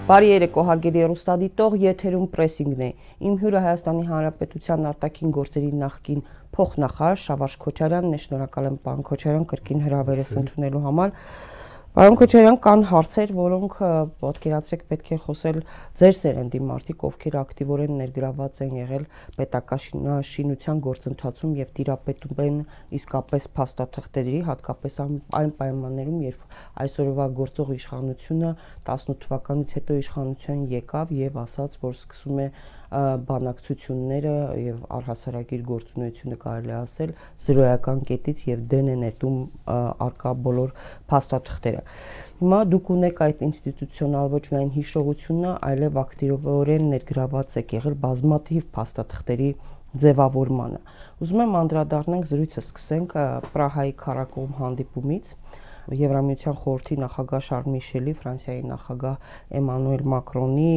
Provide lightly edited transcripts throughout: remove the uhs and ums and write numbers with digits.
Բարի երեկո, հարգելի հեռուստադիտող, եթերում պրեսինգն է։ Իմ հյուրը Հայաստանի Հանրապետության արտաքին գործերի նախկին փոխնախարար Շավարժ Քոչարյանն է, շնորհակալ եմ պարոն Քոչարյան կրկին հրավերս ընդունելու համար։ Պարոն Քոչարյան, կան հարցեր, որոնք պատկերացրեք պետք է խոսել ձեր սերնդի մարդիկ, ովքեր ակտիվորեն ներգրաված են եղել պետակաշինության գործընթացում եւ տիրապետում են իսկապես փաստաթղթերի, հատկապես այն պայմաններում, երբ այսօրվա գործող իշխանությունը 18 թվականից հետո իշխանության եկավ եւ ասաց, որ սկսում է բանակցությունները եւ առհասարակիր գործունեությունը կարելի ասել զրոյական կետից եւ դեն է նետում արկա բոլոր փաստաթղթերը։ Հիմա դուք ունեք այդ ինստիտուցիոնալ ոչ միայն հիշողությունը, այլև ակտիվորեն ներգրաված եք եղել բազմաթիվ փաստաթղթերի ձևավորմանը։ Ուզում եմ անդրադառնանք զրույցը սկսենք Պրահայի քառակողմ հանդիպումից։ Եվրամիության խորհրդի նախագահ Շարլ Միշելի, Ֆրանսիայի նախագահ Էմանուել Մակրոնի,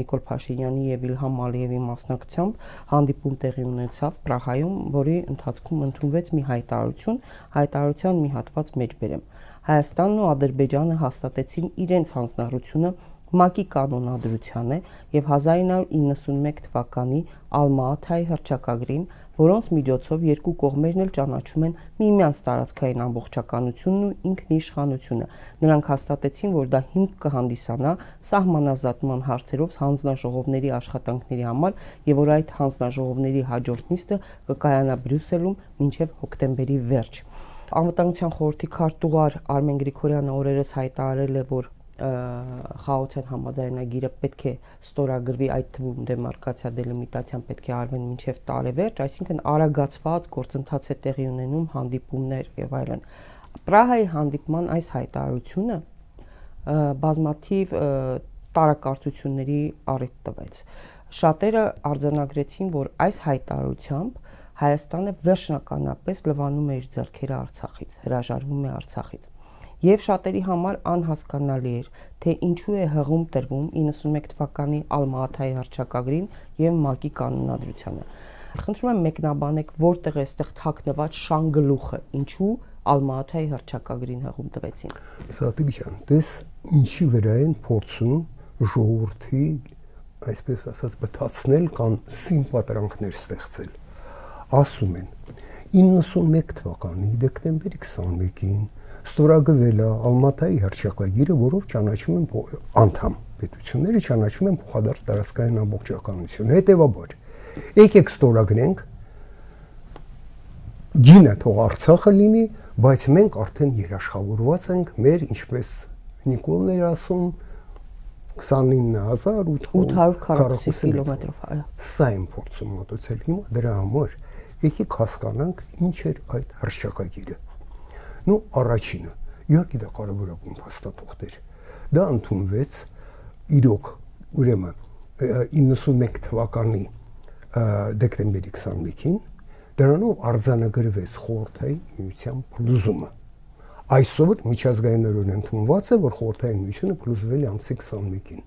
Նիկոլ Փաշինյանի եւ Իլհամ Ալիևի մասնակցությամբ հանդիպում տեղի ունեցավ Պրահայում, որի ընթացքում ընդունվեց մի հայտարարության մի հատված մեջ բերեմ։ Հայաստանն ու Ադրբեջանը հաստատեցին իրենց հանձնառությունը ՄԱԿ-ի կանոնադրությանը եւ 1991 թվականի Ալմա-Աթայի հռչակագրին, որոնց միջոցով երկու կողմերն էլ ճանաչում են միմյանց տարածքային ամբողջականությունն ու ինքնիշխանությունը։ Նրանք հաստատեցին, որ դա հիմք կհանդիսանա սահմանազատման հարցերով հանձնաժողովների աշխատանքների համար եւ որ այդ հանձնաժողովների հաջորդ նիստը կկայանա Բրյուսելում մինչեւ հոկտեմբերի վերջ։ Անվտանգության խորհրդի քարտուղար Արմեն Գրիգորյանը օրերս հայտարարել է, որ խաղաղության համաձայնագիրը պետք է ստորագրվի, այդ թվում դեմարկացիա դելիմիտացիան պետք է արվեն մինչև տարեվերջ, այսինքն արագացված գործընթաց է տեղի ունենում, հանդիպումներ եւ այլն։ Պրահայի հանդիպման այս հայտարարությունը բազմաթիվ տարակարծությունների առիթ տվեց։ Շատերը արձանագրեցին, որ այս հայտարարությամբ Հայաստանը վերջնականապես լվանում է իր ձեռքերը Արցախից, հրաժարվում է Արցախից։ Եվ շատերի համար անհասկանալի էր, թե ինչու է հղում տրվում 91 թվականի Ալմա-Աթայի հռչակագրին եւ ՄԱԿ-ի կանոնադրությանը։ Խնդրում եմ մեկնաբանեք, որտեղ է այստեղ թաքնված շանգլուխը, ինչու Ալմա-Աթայի հռչակագրին հղում տվեցին։ Սատիգյան, դες ինչի վրա են փորձում ժողովրդի, այսպես ասած, բթացնել կամ սիմպատրանքներ ստեղծել։ Ասում են 91 թվականի դեկտեմբերի 21-ին ստորագրվել է Ալմա-Աթայի հռչակագիրը, որով ճանաչում են անդամ պետությունները ճանաչում են փոխադարձ տարածքային ամբողջականություն։ Հետևաբար, եկեք ստորագրենք, գինը թող Արցախը լինի, բայց մենք արդեն երաշխավորված ենք մեր, ինչպես Նիկոլն էր ասում, 29840 կիլոմետրով, այո։ Սա են փորձում մոտեցել հիմա դրա համար։ Եկեք հասկանանք ինչ էր այդ հռչակագիրը։ Ну, առաջինը, իհարկե դա կարևորագույն փաստաթղթեր։ Դա ընդունվեց իրոք, ուրեմն 91 թվականի դեկտեմբերի 21-ին, դրանով արձանագրվեց խորհրդային միության փլուզումը։ Այսօր միջազգայինորեն ընդունված է, որ խորհրդային միությունը փլուզվել է ամսի 21-ին։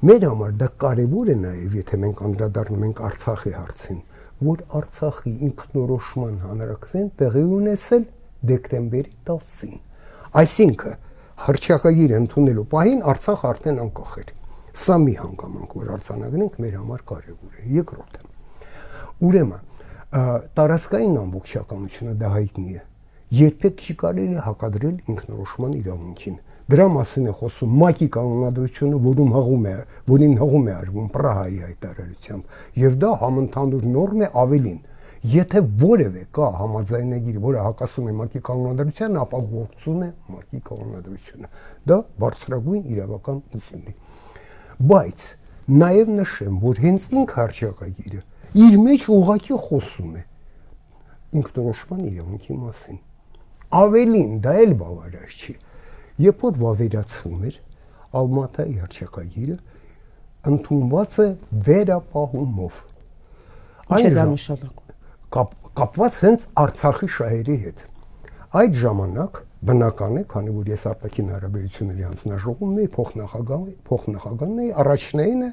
Մեր համար դա կարևոր է նաև, եթե մենք անդրադառնում ենք Արցախի հարցին, որ Արցախի ինքնորոշման հանրաքվեն տեղի ունեցել դեկտեմբերի 10-ին։ Այսինքն հռչակագիրը ընդունելու պահին Արցախ արդեն անկախ էր։ Սա մի հանգամանք, որ արձանագրենք, մեր համար կարևոր է։ Երկրորդը, ուրեմն տարածքային ամբողջականությունը դա հայտնի է։ Երբեք չի կարելի հակադրել ինքնորոշման իրավունքին։ Դրա մասին է խոսում ՄԱԿ-ի կանոնադրությունը, որին հղում է արվում Պրահայի հայտարարությամբ, եւ դա համընդհանուր նորմ է ավելին։ Եթե որևէ կա համաձայնագիր, որը հակասում է ՄԱԿ-ի կանոնադրությանը, ապա գործում է ՄԱԿ-ի կանոնադրությունը։ Դա բարձրագույն իրավական ուժ ունի։ Բայց նաեւ նշեմ, որ հենց ինքը հռչակագիրը իր մեջ ուղղակի խոսում է ինքնորոշման իրավունքի մասին։ Ավելին, դա էլ բավարար չի։ Երբ որ վավերացվում էր Ալմա-Աթայի հռչակագիրը, ընդունված է վերապահումով։ Ինչ է դա նշանակում։ Կապված հենց Արցախի շահերի հետ։ Այդ ժամանակ բնական է, քանի որ ես արտաքին հարաբերությունների հանձնաժողովում էի, փոխնախագահն էի, առաջնայինը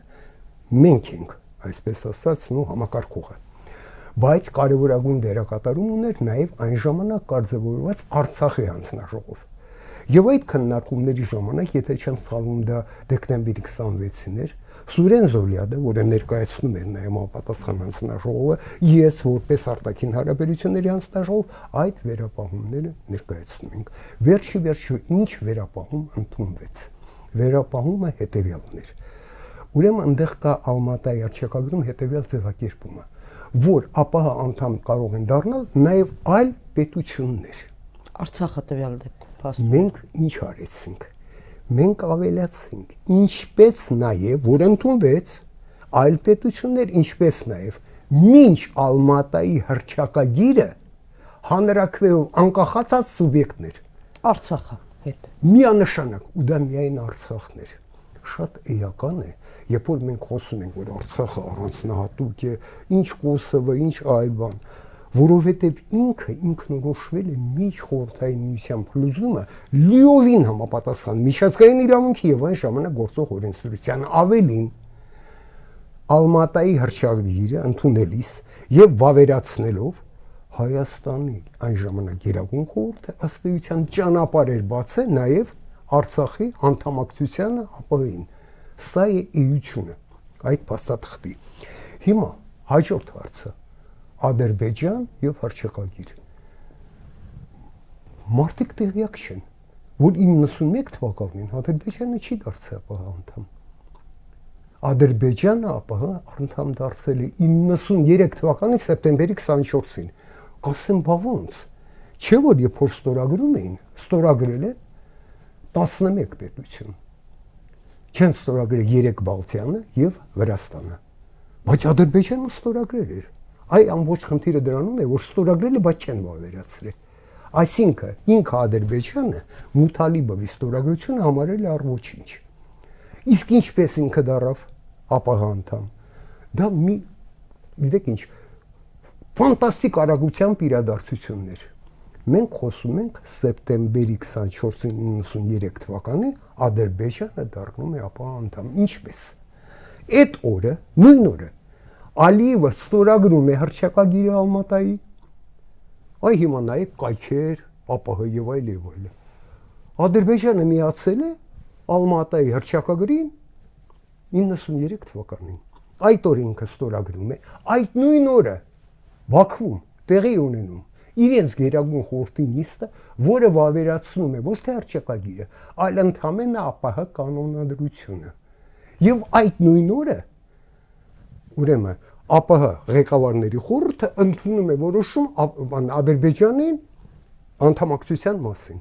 մենք ենք, այսպես ասած, համակարգողը։ Բայց կարևորագույն դերակատարում ուներ նաև այն ժամանակ կարգավորված Արցախի հանձնաժողով։ Եվ այդ քննարկումների ժամանակ, եթե չեմ սխալվում, դա դեկտեմբերի 26-ին էր, Սուրեն Զոլիադը, որը ներկայացնում էր նաև համապատասխան հանձնաժողովը, ես որպես արտաքին հարաբերությունների հանձնաժողով այդ վերապահումները ներկայացնում ենք։ Վերջի ինչ վերապահում ընդունվեց։ Վերապահումը հետևյալն էր։ Ուրեմն այնտեղ կա Ալմատայի արչակագրում հետևյալ ձևակերպումը, որ ԱՊՀ անդամ կարող են դառնալ նաև այլ պետություններ։ Արցախը տվյալ դեպքում փաստորեն։ Մենք ինչ արեցինք։ Մենք ավելացինք, ինչպես նաև, որ ընդունվեց այլ պետություններ, ինչպես նաև մինչ Ալմատայի հռչակագիրը հանրաքվեով անկախացած սուբյեկտներ։ Արցախը հետ։ Միանշանակ, ու դա միայն Արցախն էր։ Շատ էական է, երբ որ մենք խոսում ենք, որ Արցախը առանձնահատուկ է, ինչ Կոսովը, ինչ այլ բան, որովհետև ինքնորոշվել է միջխորհրդային միության փլուզումը լիովին համապատասխան միջազգային իրավունքի եւ այն ժամանակ գործող օրենսդրության, ավելին Ալմատայի հռչակագիրը ընդունելիս եւ վավերացնելով Հայաստանի այն ժամանակ Գերագույն խորհուրդը ըստ էության ճանապարհ էր բացել նաեւ Արցախի անդամակցությանը ԱՊՀ-ին։ Սա է էությունը այդ փաստաթղթի։ Հիմա հաջորդ հարցը Ադրբեջան եւ հռչակագիր։ Մարդիկ տեղյակ չեն, որ 91 թվականին Ադրբեջանը չի դարձել ԱՊՀ անդամ։ Ադրբեջանը ԱՊՀ անդամ դարձել է 93 թվականի սեպտեմբերի 24-ին։ Կասեմ, բա ոնց։ Չէ՞ որ երբ որ ստորագրում էին, ստորագրել է 11 պետություն։ Չեն ստորագրել 3 Բալթիանը եւ Վրաստանը։ Բայց Ադրբեջանը ստորագրել էր։ Այ ամբողջ խնդիրը դրանում է, որ ստորագրել է, բայց չեն վավերացրել։ Այսինքն ինքը Ադրբեջանը Մութալիբովի ստորագրությունը համարել է առ-ոչինչ։ Իսկ ինչպես ինքը դառավ ԱՊՀ անդամ։ Դա մի, գիտեք ինչ, ֆանտաստիկ արագությամբ իրադարձություններ։ Մենք խոսում ենք սեպտեմբերի 24-ին 93 թվականի Ադրբեջանը դառնում է ԱՊՀ անդամ։ Ինչպես։ Այդ օրը, նույն օրը Ալիևը ստորագրում է հռչակագիրը Ալմատայի։ Այ հիմա նայեք կայքեր, ԱՊՀ եւ այլ եւ այլ։ Ադրբեջանը միացել է Ալմատայի հռչակագրին 93 թվականին։ Այդ օրը ինքը ստորագրում է, այդ նույն օրը Բաքվում տեղի ունենում իրենց Գերագույն խորհրդի նիստը, որը վավերացնում է ոչ թե հռչակագիրը, այլ ընդհանրապես ԱՊՀ կանոնադրությունը։ Եվ այդ նույն օրը ուրեմն ԱՊՀ ղեկավարների խորհուրդը ընդունում է որոշում Ադրբեջանին անդամակցության մասին։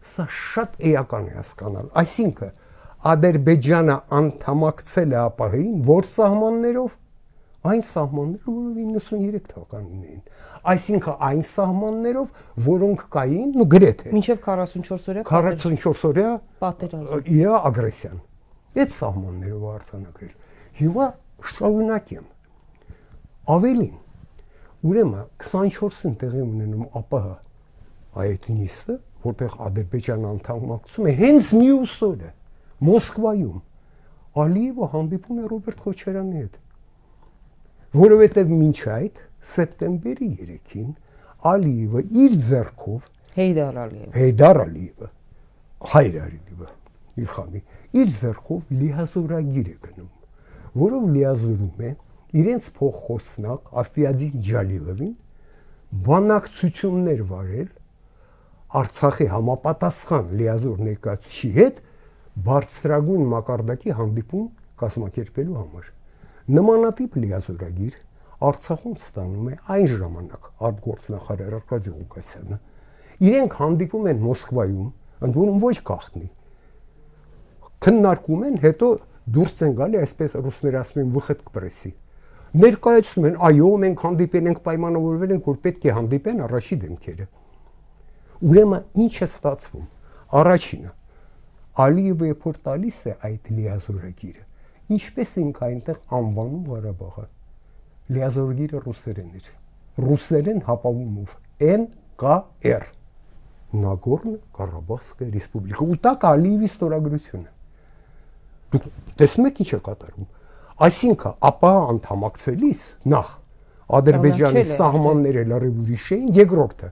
Սա շատ էական է հասկանալ։ Այսինքն Ադրբեջանը անդամակցել է ԱՊՀ-ին որ սահմաններով, այն սահմանները, որով 93 թվականին էին։ Այսինքն այն սահմաններով, որոնք կային, ու գրեթե մինչև 44 օրյա 44 օրյա պատերազմ իր ագրեսիան։ Այդ սահմաններով արձանագրել։ Հիմա շարունակեմ։ Ավելին, ուրեմն 24-ին տեղի ունենում ԱՊՀ այդ նիստը, որտեղ Ադրբեջանը անդամակցում է հենց մյուս օրը Մոսկվայում Ալիևը հանդիպում է Ռոբերտ Քոչարյանի հետ, որովհետև մինչ այդ սեպտեմբերի 3-ին Ալիևը իր ձեռքով Հեյդար Ալիևը Հայր Ալիևը Իլխամի իր ձեռքով լիազորագիր է գնում, որով լիազորում է իրենց փոխխոսնակ Աֆիադին Ջալիլովին բանակցություններ վարել Արցախի համապատասխան լիազոր ներկայացուցիչի հետ բարձրագույն մակարդակի հանդիպում կազմակերպելու համար։ Նմանատիպ լիազորագիր Արցախում ստանում է այն ժամանակ արտգործնախարար Արկադի Ղուկասյանը։ Իրենք հանդիպում են Մոսկվայում, ընդ որում ոչ գաղտնի։ Քննարկում են, հետո դուրս են գալի, այսպես ռուսները ասում են, վխետ կպրեսի։ Ներկայացնում են, այո, մենք հանդիպել ենք, պայմանավորվել ենք, որ պետք է հանդիպեն առաջի դեմքերը։ Ուրեմն ինչ է ստացվում։ Առաջինը Ալիևը երբ տալիս է այդ լիազորագիրը, ինչպես ինքը այնտեղ անվանում Ղարաբաղը։ Լիազորագիրը ռուսերեն էր։ Ռուսերեն հապամումով NKR Նագորնո Ղարաբաղսկա ռեսպուբլիկա։ Ու տակ Ալիևի ստորագրությունը։ Դուք տեսնում եք ինչ է կատարում։ Այսինքն ԱՊՀ անդամակցելիս նախ Ադրբեջանի սահմանները լրիվ ուրիշ էին, երկրորդը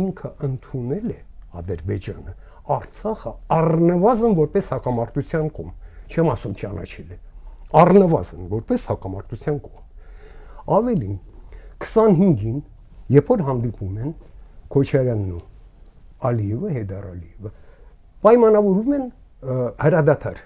ինքը ընդունել է Ադրբեջանը Արցախը առնվազն որպես հակամարտության կողմ, չեմ ասում ճանաչել է, առնվազն որպես հակամարտության կողմ։ Ավելին 25-ին, երբ որ հանդիպում են Քոչարյանն ու Ալիևը, Հեյդար Ալիևը, պայմանավորվում են հրադադար,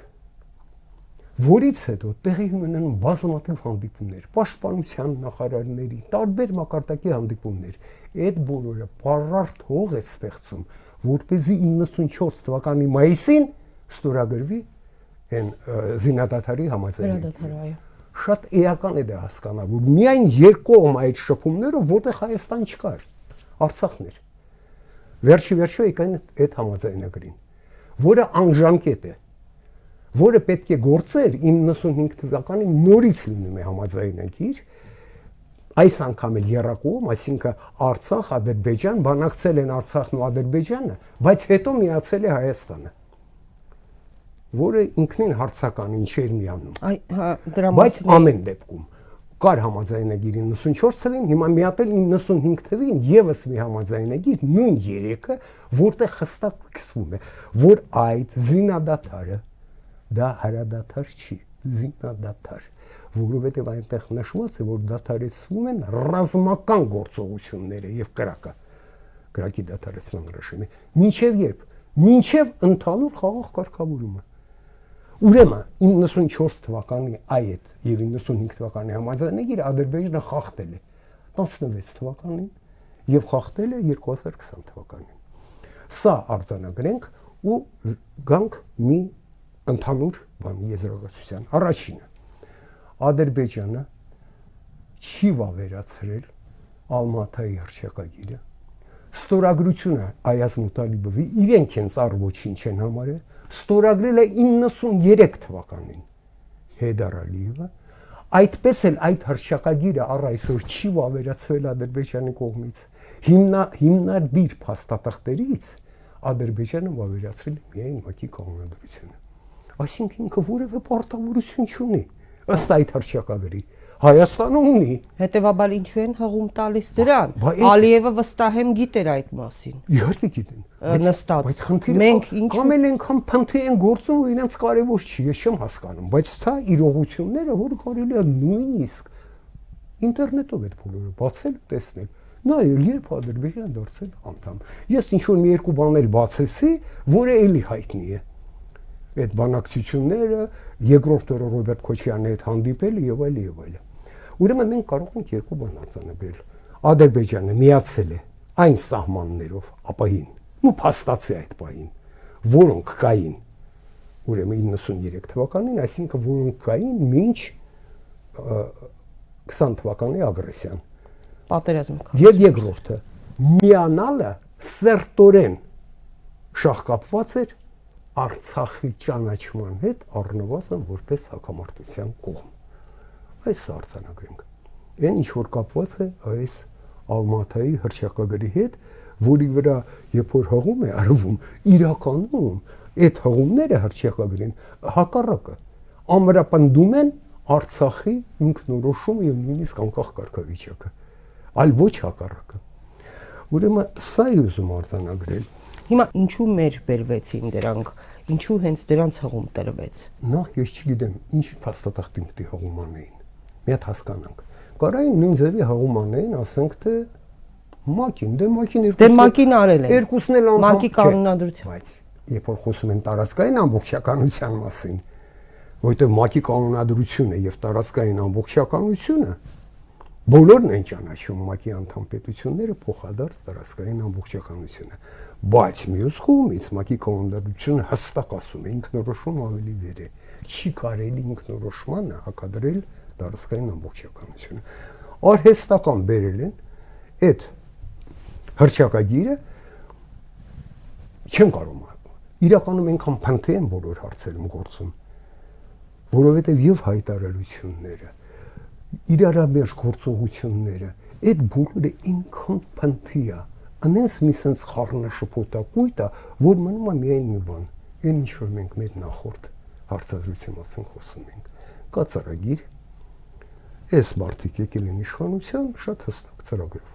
որից հետո տեղի ունեն բազմաթիվ հանդիպումներ, պաշտպանության նախարարների, տարբեր մակարդակի հանդիպումներ։ Այդ բոլորը պարարտ հող է ստեղծում, որպեսզի 94 թվականի մայիսին ստորագրվի այն զինադադարի համաձայնագիրը։ Շատ էական է դա հասկանալ, որ միայն երկկողմ այդ շփումները, որտեղ Հայաստան չկար, Արցախն էր։ Վերջի եկան այդ համաձայնագրին, որը անժամկետ է, որը պետք է գործեր 95 թվականի նորից լինում է համաձայնագիր, այս անգամ էլ եռակողմ, այսինքն Արցախ, Ադրբեջան, բանակցել են Արցախն ու Ադրբեջանը, բայց հետո միացել է Հայաստանը, որը ինքնին հարցականին չէր միանում։ Բայց ամեն դեպքում կար համաձայնագիր 94 թվին, հիմա միատել 95 թվին եւս մի համաձայնագիր, նույն երեքը, որտեղ հստակ կիսվում է, որ այդ զինադադարը դա հրադադար չի, զինադադար, որովհետև այնտեղ նշված է, որ դադարեցվում են ռազմական գործողությունները եւ կրակի դադարեցման ռեժիմը, մինչև ընդհանուր խաղաղ կարգավորումը։ Ուրեմն 94 թվականի այդ եւ 95 թվականի համաձայնագիրը Ադրբեջանը խախտել է 16 թվականին եւ խախտել է 2020 թվականին։ Սա արձանագրենք ու գանք մի ընդհանուր բանի եզրակացության։ Առաջինը, Ադրբեջանը չի վավերացրել Ալմատայի հռչակագիրը, ստորագրությունը Այազ Մուտալիբովի իրենք են ծառ ոչինչ են համարել, ստորագրել է 93 թվականին Հեյդար Ալիևը, այդպես էլ այդ հռչակագիրը առ այսօր չի վավերացվել Ադրբեջանի կողմից։ Հիմնադիր փաստաթղթերից Ադրբեջանը վավերացրել է միայն ՄԱԿ-ի կանոնադրությունը։ Այսինքն ինքը որևէ պարտավորություն չունի ըստ այդ հռչակագրի։ Հայաստանը ունի։ Հետևաբար ինչու են հղում տալիս դրան։ Ալիևը վստահեմ գիտեր այդ մասին։ Իհարկե գիտեն։ Նստած։ Բայց խնդիրը մենք ինչ կամ էլ այնքան փնթի են գործում, որ իրենց կարևոր չի, ես չեմ հասկանում, բայց սա իրողությունները, որ կարելի է նույնիսկ ինտերնետով այդ բոլորը բացել ու տեսնել։ Նայել, երբ Ադրբեջանը դարձել անդամ։ Ես ինչ որ մի երկու բաներ բացեցի, որը էլի հայտնի է։ Այդ բանակցությունները, երկրորդ օրը Ռոբերտ Քոչարյանի հետ հանդիպելը եւ այլն։ Ուրեմն մենք կարող ենք երկու բան արձանագրել։ Ադրբեջանը միացել է այն սահմաններով ապահին, ու փաստացի այդ պահին, որոնք կային ուրեմն 93 թվականին, այսինքն որոնք կային մինչ 20 թվականի ագրեսիան։ պատերազմը։ Եվ երկրորդը միանալը սերտորեն շահկապված էր Արցախի ճանաչման հետ առնվազն որպես հակամարտության կողմ։ Այս արձանագրենք։ Այն ինչ որ կապված է այս Ալմատայի հռչակագրի հետ, որի վրա երբ որ հղում է արվում, իրականում այդ հղումները հռչակագրին հակառակը ամրապնդում են Արցախի ինքնորոշումը եւ նույնիսկ անկախ կարգավիճակը, այլ ոչ հակառակը։ Ուրեմն սա է ուզում արձանագրել։ Հիմա ինչու մեր բերվեցին դրանք, ինչու հենց դրանց հղում տրվեց։ Նախ ես չգիտեմ, ինչ փաստաթղթի մտի հղում անեին։ Մի հատ հասկանանք։ Կարային նույն ձևի հղում անեին, ասենք թե ՄԱԿ-ին, դե ՄԱԿ-ին արել են։ Երկուսն էլ անդամ ՄԱԿ-ի կանոնադրություն։ Բայց երբ որ խոսում են տարածքային ամբողջականության մասին, որտեղ ՄԱԿ-ի կանոնադրությունը եւ տարածքային ամբողջականությունը բոլորն են ճանաչում ՄԱԿ-ի անդամ պետությունները փոխադարձ տարածքային ամբողջականությունը, բայց մյուս կողմից ՄԱԿ-ի կանոնադրությունը հստակ ասում է ինքնորոշում ավելի վեր է, չի կարելի ինքնորոշմանը հակադրել տարածքային ամբողջականությունը։ Արհեստական բերել են այդ հռչակագիրը չեմ կարող իրականում այնքան փնթի են բոլոր հարցերում գործում, որովհետև եւ հայտարարությունները, իրարաբերջ գործողությունները, այդ բոլորը ինքան փնթի է, անենց մի sense խառնաշփոթակույտ է, որ մնում է միայն մի բան, այն ինչ որ մենք մեր նախորդ հարցազրույցի մասին խոսում ենք, կա ծրագիր, այս մարդիկ եկել են իշխանության շատ հստակ ծրագրով,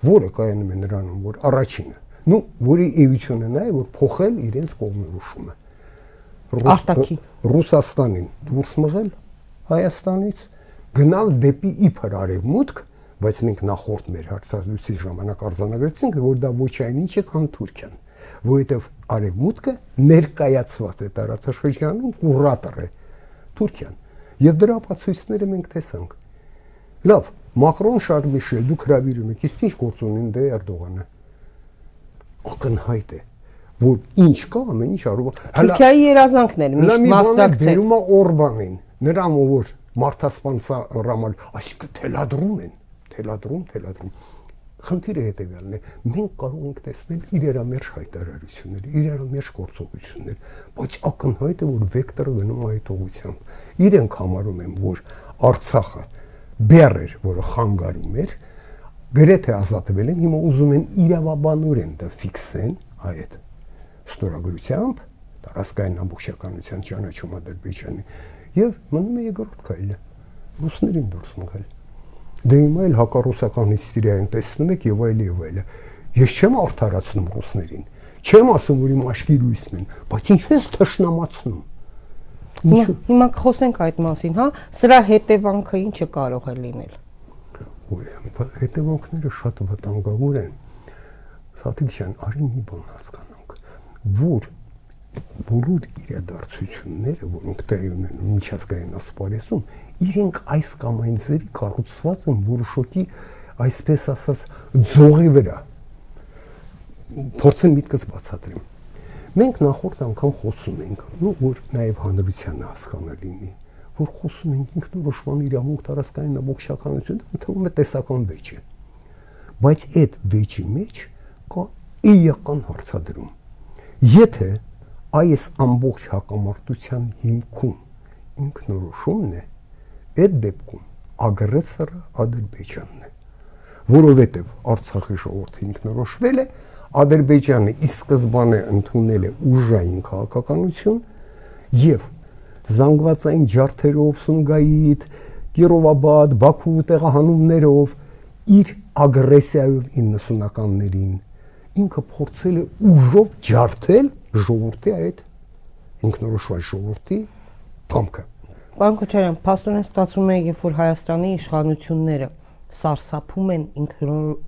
որը կայանում է նրանում, որ առաջինը նու որի էությունը նա է որ փոխել իրենց կողմնորոշումը Արտաքին Ռուսաստանին դուրս մղել Հայաստանից գնալ դեպի իբր արևմուտք, բայց մենք նախորդ մեր հարցազրույցի ժամանակ արձանագրեցինք, որ դա ոչ այն ինչ է, քան Թուրքիան, որովհետև արևմուտքը ներկայացված է տարածաշրջանում կուրատոր է Թուրքիան, եւ դրա ապացույցները մենք տեսանք։ Լավ, Մակրոն, Շարլ Միշել, դուք հրավիրում եք, իսկ ինչ գործ ունեն դե Էրդողանը։ Ակնհայտ է, որ ինչ կա, ամեն ինչ արու։ Թուրքիայի երազանքն էր միշտ մասնակցել։ Բերում է Օրբանին, նրան որ մարդասպանցա ռամալ, այսինքն թելադրում։ Խնդիրը հետևյալն է, մենք կարող ենք տեսնել իրարամերժ հայտարարություններ, իրարամերժ գործողություններ, բայց ակնհայտ է, որ վեկտորը գնում է այդ ուղղությամբ։ Իրենք համարում են, որ Արցախը բեռ էր, որը խանգարում էր, գրեթե ազատվել են, հիմա ուզում են իրավաբանորեն դա ֆիքսեն այդ ստորագրությամբ, տարածքային ամբողջականության ճանաչում Ադրբեջանի, եւ մնում է երկրորդ քայլը, ռուսներին դուրս մղել։ Դե հիմա էլ հակառուսական հիստերիային տեսնում եք եւ այլ։ Ես չեմ արդարացնում ռուսներին, չեմ ասում, որ իմ աշկի լույսն են, բայց ինչու ես թշնամացնում։ Հիմա կխոսենք այդ մասին, հա, սրա հետևանքը ինչը կարող է լինել։ Հետևանքները շատ վտանգավոր են։ Սաթիկ ջան, արի մի բան հասկանանք, որ բոլոր իրադարձությունները, որոնք տեղի ունեն միջազգային ասպարեզում, իրենք այս կամ այն ձևի կառուցված են որոշակի, այսպես ասած, ձողի վրա։ Փորձեմ միտքս բացատրեմ։ Մենք նախորդ անգամ խոսում ենք, որ նաև հանրությանը հասկանալի լինի, որ խոսում ենք ինքնորոշման իրավունք տարածքային ամբողջականություն, ընդհանուր տեսական վեճ է։ Բայց այդ վեճի մեջ կա էական հարցադրում։ Եթե այս ամբողջ հակամարտության հիմքում ինքնորոշումն է, այդ դեպքում ագրեսորը Ադրբեջանն է, որովհետև Արցախի ժողովուրդը ինքնորոշվել է, Ադրբեջանը ի սկզբանե ընդունել է ուժային քաղաքականություն եւ զանգվածային ջարդերով, Սումգայիթ, Կիրովաբադ, Բաքու տեղահանումներով իր ագրեսիայով 90-ականներին ինքը փորձել է ուժով ջարդել ժողովրդի այդ ինքնորոշված ժողովրդի կամքը։ Պարոն Քոչարյան, փաստորեն ստացվում է, երբ որ Հայաստանի իշխանությունները սարսափում են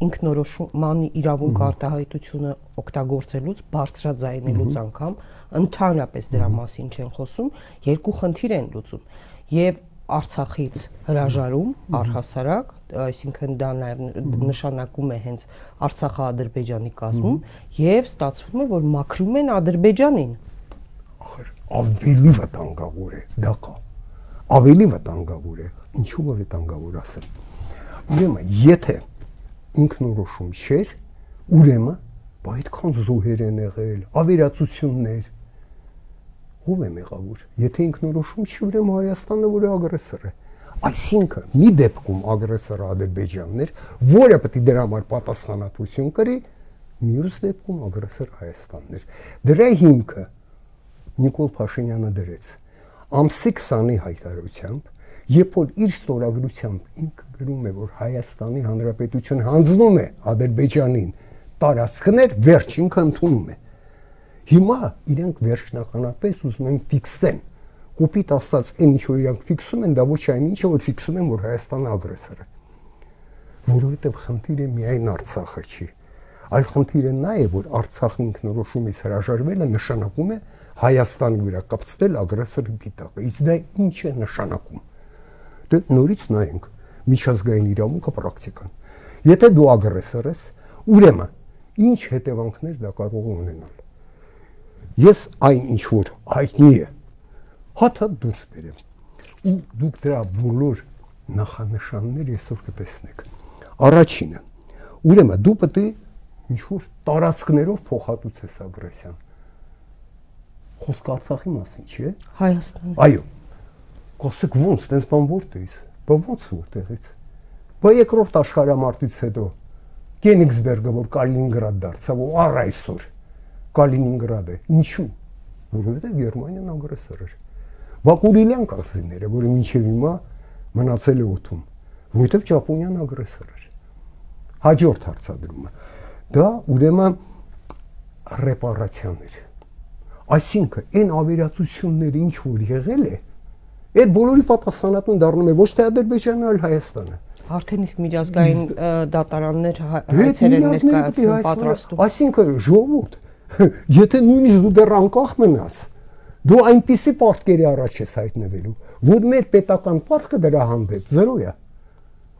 ինքնորոշման իրավունք արտահայտությունը օգտագործելուց, բարձրաձայնելուց անգամ, ընդհանրապես դրա մասին չեն խոսում, երկու խնդիր են լուծում։ Եվ Արցախից հրաժարում առհասարակ, այսինքն դա նաև նշանակում է հենց Արցախը Ադրբեջանի կազմում, եւ ստացվում է, որ մաքրում են Ադրբեջանին։ Ավելի վտանգավոր է, դա կա։ Ավելի վտանգավոր է, ինչու՞ է վտանգավոր ասեմ։ Ուրեմն, եթե ինքնորոշում չէր, ուրեմն այդքան զոհեր են եղել, ավերածություններ, ով է մեղավոր։ Եթե ինքնորոշում չի, ուրեմն Հայաստանը որ է ագրեսոր է։ Այսինքն, մի դեպքում ագրեսորը Ադրբեջանն էր, որը պետք է դրա համար պատասխանատվություն կրի, մյուս դեպքում ագրեսոր Հայաստանն էր։ Դրա հիմքը Նիկոլ Փաշինյանը դրեց ամսի 20-ի հայտարարությամբ, երբ որ իր ստորագրությամբ ինքը գրում է, որ Հայաստանի Հանրապետությունը հանձնում է Ադրբեջանին տարածքներ, վերջ ինքը ընդունում է։ Հիմա իրենք վերջնականապես ուզում են ֆիքսեն, կոպիտ ասած, այն ինչ որ իրենք ֆիքսում են, դա ոչ այն ինչը որ ֆիքսում են, որ Հայաստանը ագրեսոր է։ Որովհետև խնդիրը միայն Արցախը չի, այլ խնդիրը նա է, որ Արցախի ինքնորոշումից հրաժարվելը նշանակում է Հայաստանի վրա կապցնել ագրեսորի պիտակը։ Իսկ դա ինչ է նշանակում։ Դե նորից նայենք միջազգային իրավունքը պրակտիկան։ Եթե դու ագրեսոր ես, ուրեմն ինչ հետևանքներ դա կարող է ունենալ։ Ես այն ինչ որ հայտնի է, հաթ դուրս բերեմ։ Ու դուք դրա բոլոր նախանշանները այսօր կտեսնեք։ Առաջինը, ուրեմն դու պետք է ինչ որ տարածքներով փոխհատուցես ագրեսիան։ Խոսքը Արցախի մասին չէ։ Հայաստանի։ Այո։ Խոսեք ոնց, տես բան որտեղից։ Բա ոնց որտեղից։ Բա երկրորդ աշխարհամարտից հետո Կենիգսբերգը որ Կալինինգրադ դարձավ, ու առ այսօր Կալինինգրադ է։ Ինչու՞։ Որովհետև Գերմանիան ագրեսոր էր։ Բաքուրիլյան կղզիները, որը մինչև հիմա մնացել է օդում, որովհետև Ճապոնիան ագրեսոր էր։ Հաջորդ հարցադրումը։ Դա ուրեմն ռեպարացիաներ։ Այսինքն այն ավերածությունները ինչ որ եղել է, այդ բոլորի պատասխանատուն դառնում է ոչ թե Ադրբեջանը, այլ Հայաստանը։ Արդեն իսկ միջազգային դատարաններ հայցեր են ներկայացնում պատրաստում։ Այսինքն ժողովուրդ, եթե նույնիսկ դու դեռ անկախ մնաս, դու այնպիսի պարտքերի առաջ ես հայտնվելու, որ մեր պետական պարտքը դրա հանդեպ 0 է։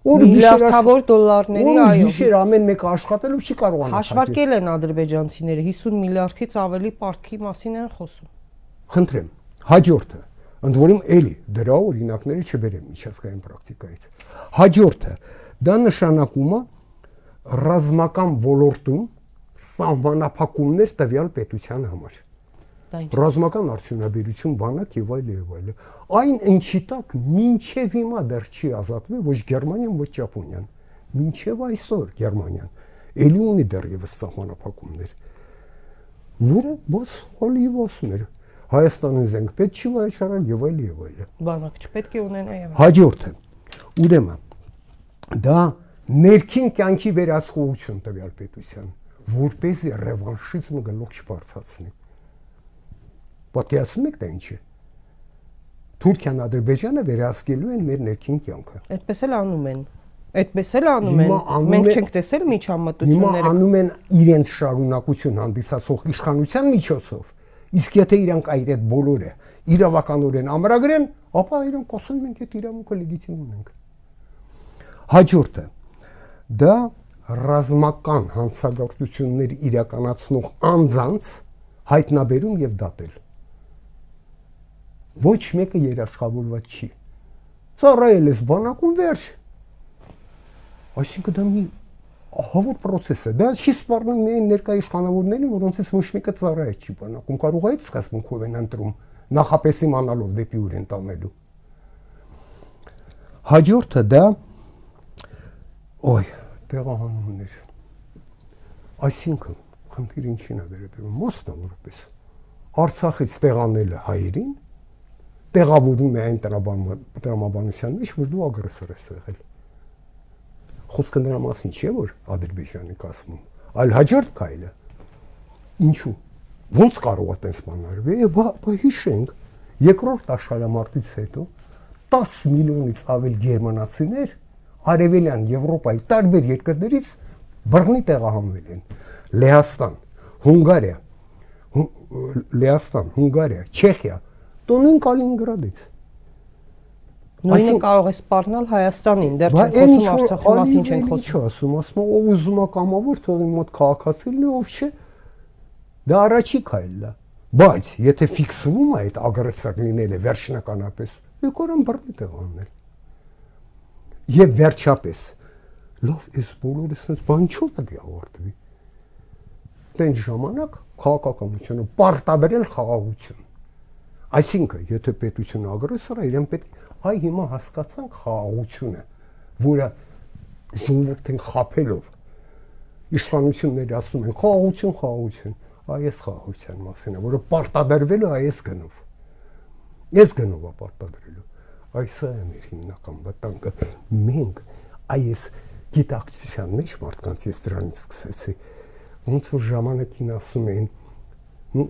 Միլիարդավոր դոլարների, այո։ Գիշեր ամեն մեկը աշխատելով չի կարողանա։ Հաշվարկել են ադրբեջանցիները 50 միլիարդից ավելի պարտքի մասին են խոսում։ Խնդրեմ, հաջորդը, ընդ որում էլի դրա օրինակները չբերեմ միջազգային պրակտիկայից։ Հաջորդը, դա նշանակում է ռազմական ոլորտում սահմանափակումներ տվյալ պետության համար։ Ռազմական արդյունաբերություն, բանակ եւ այլ։ Այն ինչի տակ մինչեւ հիմա դեռ չի ազատվել ոչ Գերմանիան, ոչ Ճապոնիան։ Մինչեւ այսօր Գերմանիան էլի ունի դեռևս սահմանափակումներ։ Որը ոչ հոլի ոսներ։ Հայաստանին զենք պետք չի վայրել եւ այլ։ Բանակ չպետք է ունենա եւ։ Հաջորդը։ Ուրեմն դա ներքին կյանքի վերահսկողություն տվյալ պետության, որպեսզի ռևանշիզմը գլուխ չբարձրացնի։ Պատկերացնում եք դա ինչ է։ Թուրքիան, Ադրբեջանը վերահսկելու են մեր ներքին կյանքը։ Այդպես էլ անում են։ Մենք չենք տեսել միջամտությունները։ Հիմա անում են իրենց շարունակություն հանդիսացող իշխանության միջոցով։ Իսկ եթե իրանք այդ բոլորը իրավականորեն ամրագրեն, ապա իրանք ասում են, այդ իրավունքը լեգիտիմ ունենք։ Հաջորդը դա ռազմական հանցագործություններ իրականացնող անձանց հայտնաբերում եւ դատել։ Ոչ մեկը երաշխավորված չի։ Ծառայել ես բանակում վերջ։ Այսինքն դա մի ահավոր process է։ Դա չի սպառնում միայն ներկայ իշխանավորներին, որոնցից ոչ մեկը ծառայել չի բանակում։ Կարող է այդ սկզբունքով են ընտրում, նախապես իմանալով դեպի ուր են տանելու։ Հաջորդը դա տեղահանումներ։ Այսինքն խնդիրը ինչին է վերաբերում մասնավորապես Արցախից տեղանելը հայերին տեղավորում է այն տրամաբանության մեջ, որ դու ագրեսոր ես եղել։ Խոսքը նրա մասին չէ, որ Ադրբեջանի կազմում, այլ հաջորդ քայլը։ Ինչու։ Ոնց կարող է տես բանարվել։ Բա հիշենք, երկրորդ աշխարհամարտից հետո 10 միլիոնից ավել գերմանացիներ Արևելյան Եվրոպայի տարբեր երկրներից բռնի տեղահանվել են։ Լեհաստան, Հունգարիա, Չեխիա, տոնին Կալինինգրադից։ Նույնը կարող է սպառնալ Հայաստանին, դեռ չենք խոսում Արցախի մասին չենք խոսում։ Ասում ով ուզում է կամավոր թողի մոտ քաղաքացի լինի, ով չէ։ Դա առաջի քայլն է։ Բայց եթե ֆիքսվում է այդ ագրեսոր լինելը վերջնականապես, եկորան բռնի տեղաննել։ Եվ վերջապես, լավ, այս բոլորը sense բան չու պետք է ավարտվի։ Տենց ժամանակ քաղաքականությունը պարտադրել խաղաղություն։ Այսինքն, եթե պետությունը ագրեսոր է, իրեն պետք է հիմա հասկացանք խաղաղությունը, որը ժողովրդին խաբելով իշխանությունները ասում են խաղաղություն, այս խաղաղության մասին է, որը պարտադրվել է այս գնով։ Այս գնով է պարտադրելու։ Այս է մեր հիմնական վտանգը։ Մենք այս գիտակցության մեջ մարդկանց ես դրանից սկսեցի, ոնց որ ժամանակին ասում էին,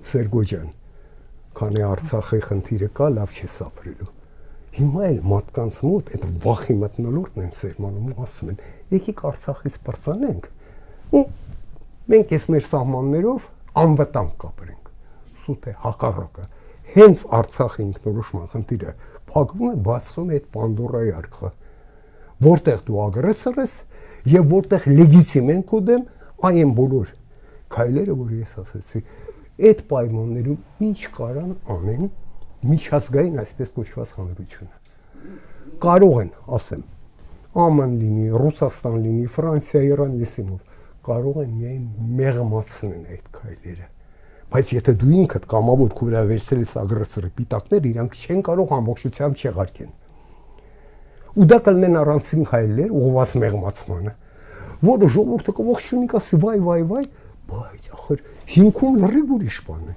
Սերգո ջան, քանի Արցախի խնդիրը կա, լավ չես ապրելու։ Հիմա էլ մարդկանց մոտ այդ վախի մթնոլորտն են սերմանում ու ասում են, եկեք Արցախից բարձրանենք, ու մենք այս մեր սահմաններով անվտանգ կապրենք։ Սուտ է հակառակը։ Հենց Արցախի ինքնորոշման խնդիրը փակվում է, բացվում է այդ Պանդորայի արքա, որտեղ դու ագրեսոր ես եւ որտեղ լեգիտիմ են քո դեմ այն բոլոր քայլերը, որ ես ասացի, այդ պայմաններում ինչ կարան անեն միջազգային այսպես կոչված հանրությունը։ Կարող են, ասեմ, ԱՄՆ լինի, Ռուսաստան լինի, Ֆրանսիա, Իրան, եսիմով, կարող են միայն մեղմացնեն այդ քայլերը։ Բայց եթե դու ինքդ կամավոր քո վրա վերցրել ես ագրեսորի պիտակներ, իրանք չեն կարող ամբողջությամբ չեղարկեն։ Ու դա կլինեն առանցին քայլեր ուղղված մեղմացմանը, որը ժողովուրդը կողջունի կասի վայ, բայց ախր հիմքում լրիվ ուրիշ բան է։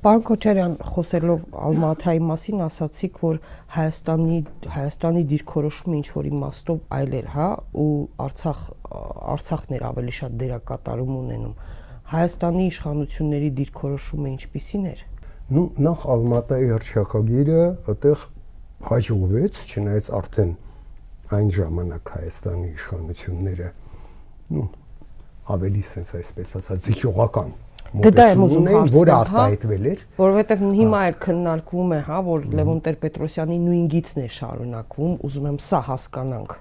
Պարոն Քոչարյան, խոսելով Ալմատայի մասին, ասացիք, որ Հայաստանի դիրքորոշումը ինչ որ իմաստով այլ էր, հա, ու Արցախն էր ավելի շատ դերակատարում ունենում։ Հայաստանի իշխանությունների դիրքորոշումը ինչպիսին էր։ Ну, նախ Ալմատայի հռչակագիրը այդտեղ հաջողվեց, չնայած արդեն այն ժամանակ Հայաստանի իշխանությունները, ну, ավելի sense այսպես ասած զիջողական մոտեցումն որը արտահայտվել էր, որովհետև հիմա էլ քննարկվում է, հա, որ Լևոն Տեր-Պետրոսյանի նույն գիծն է շարունակվում, ուզում եմ սա հասկանանք։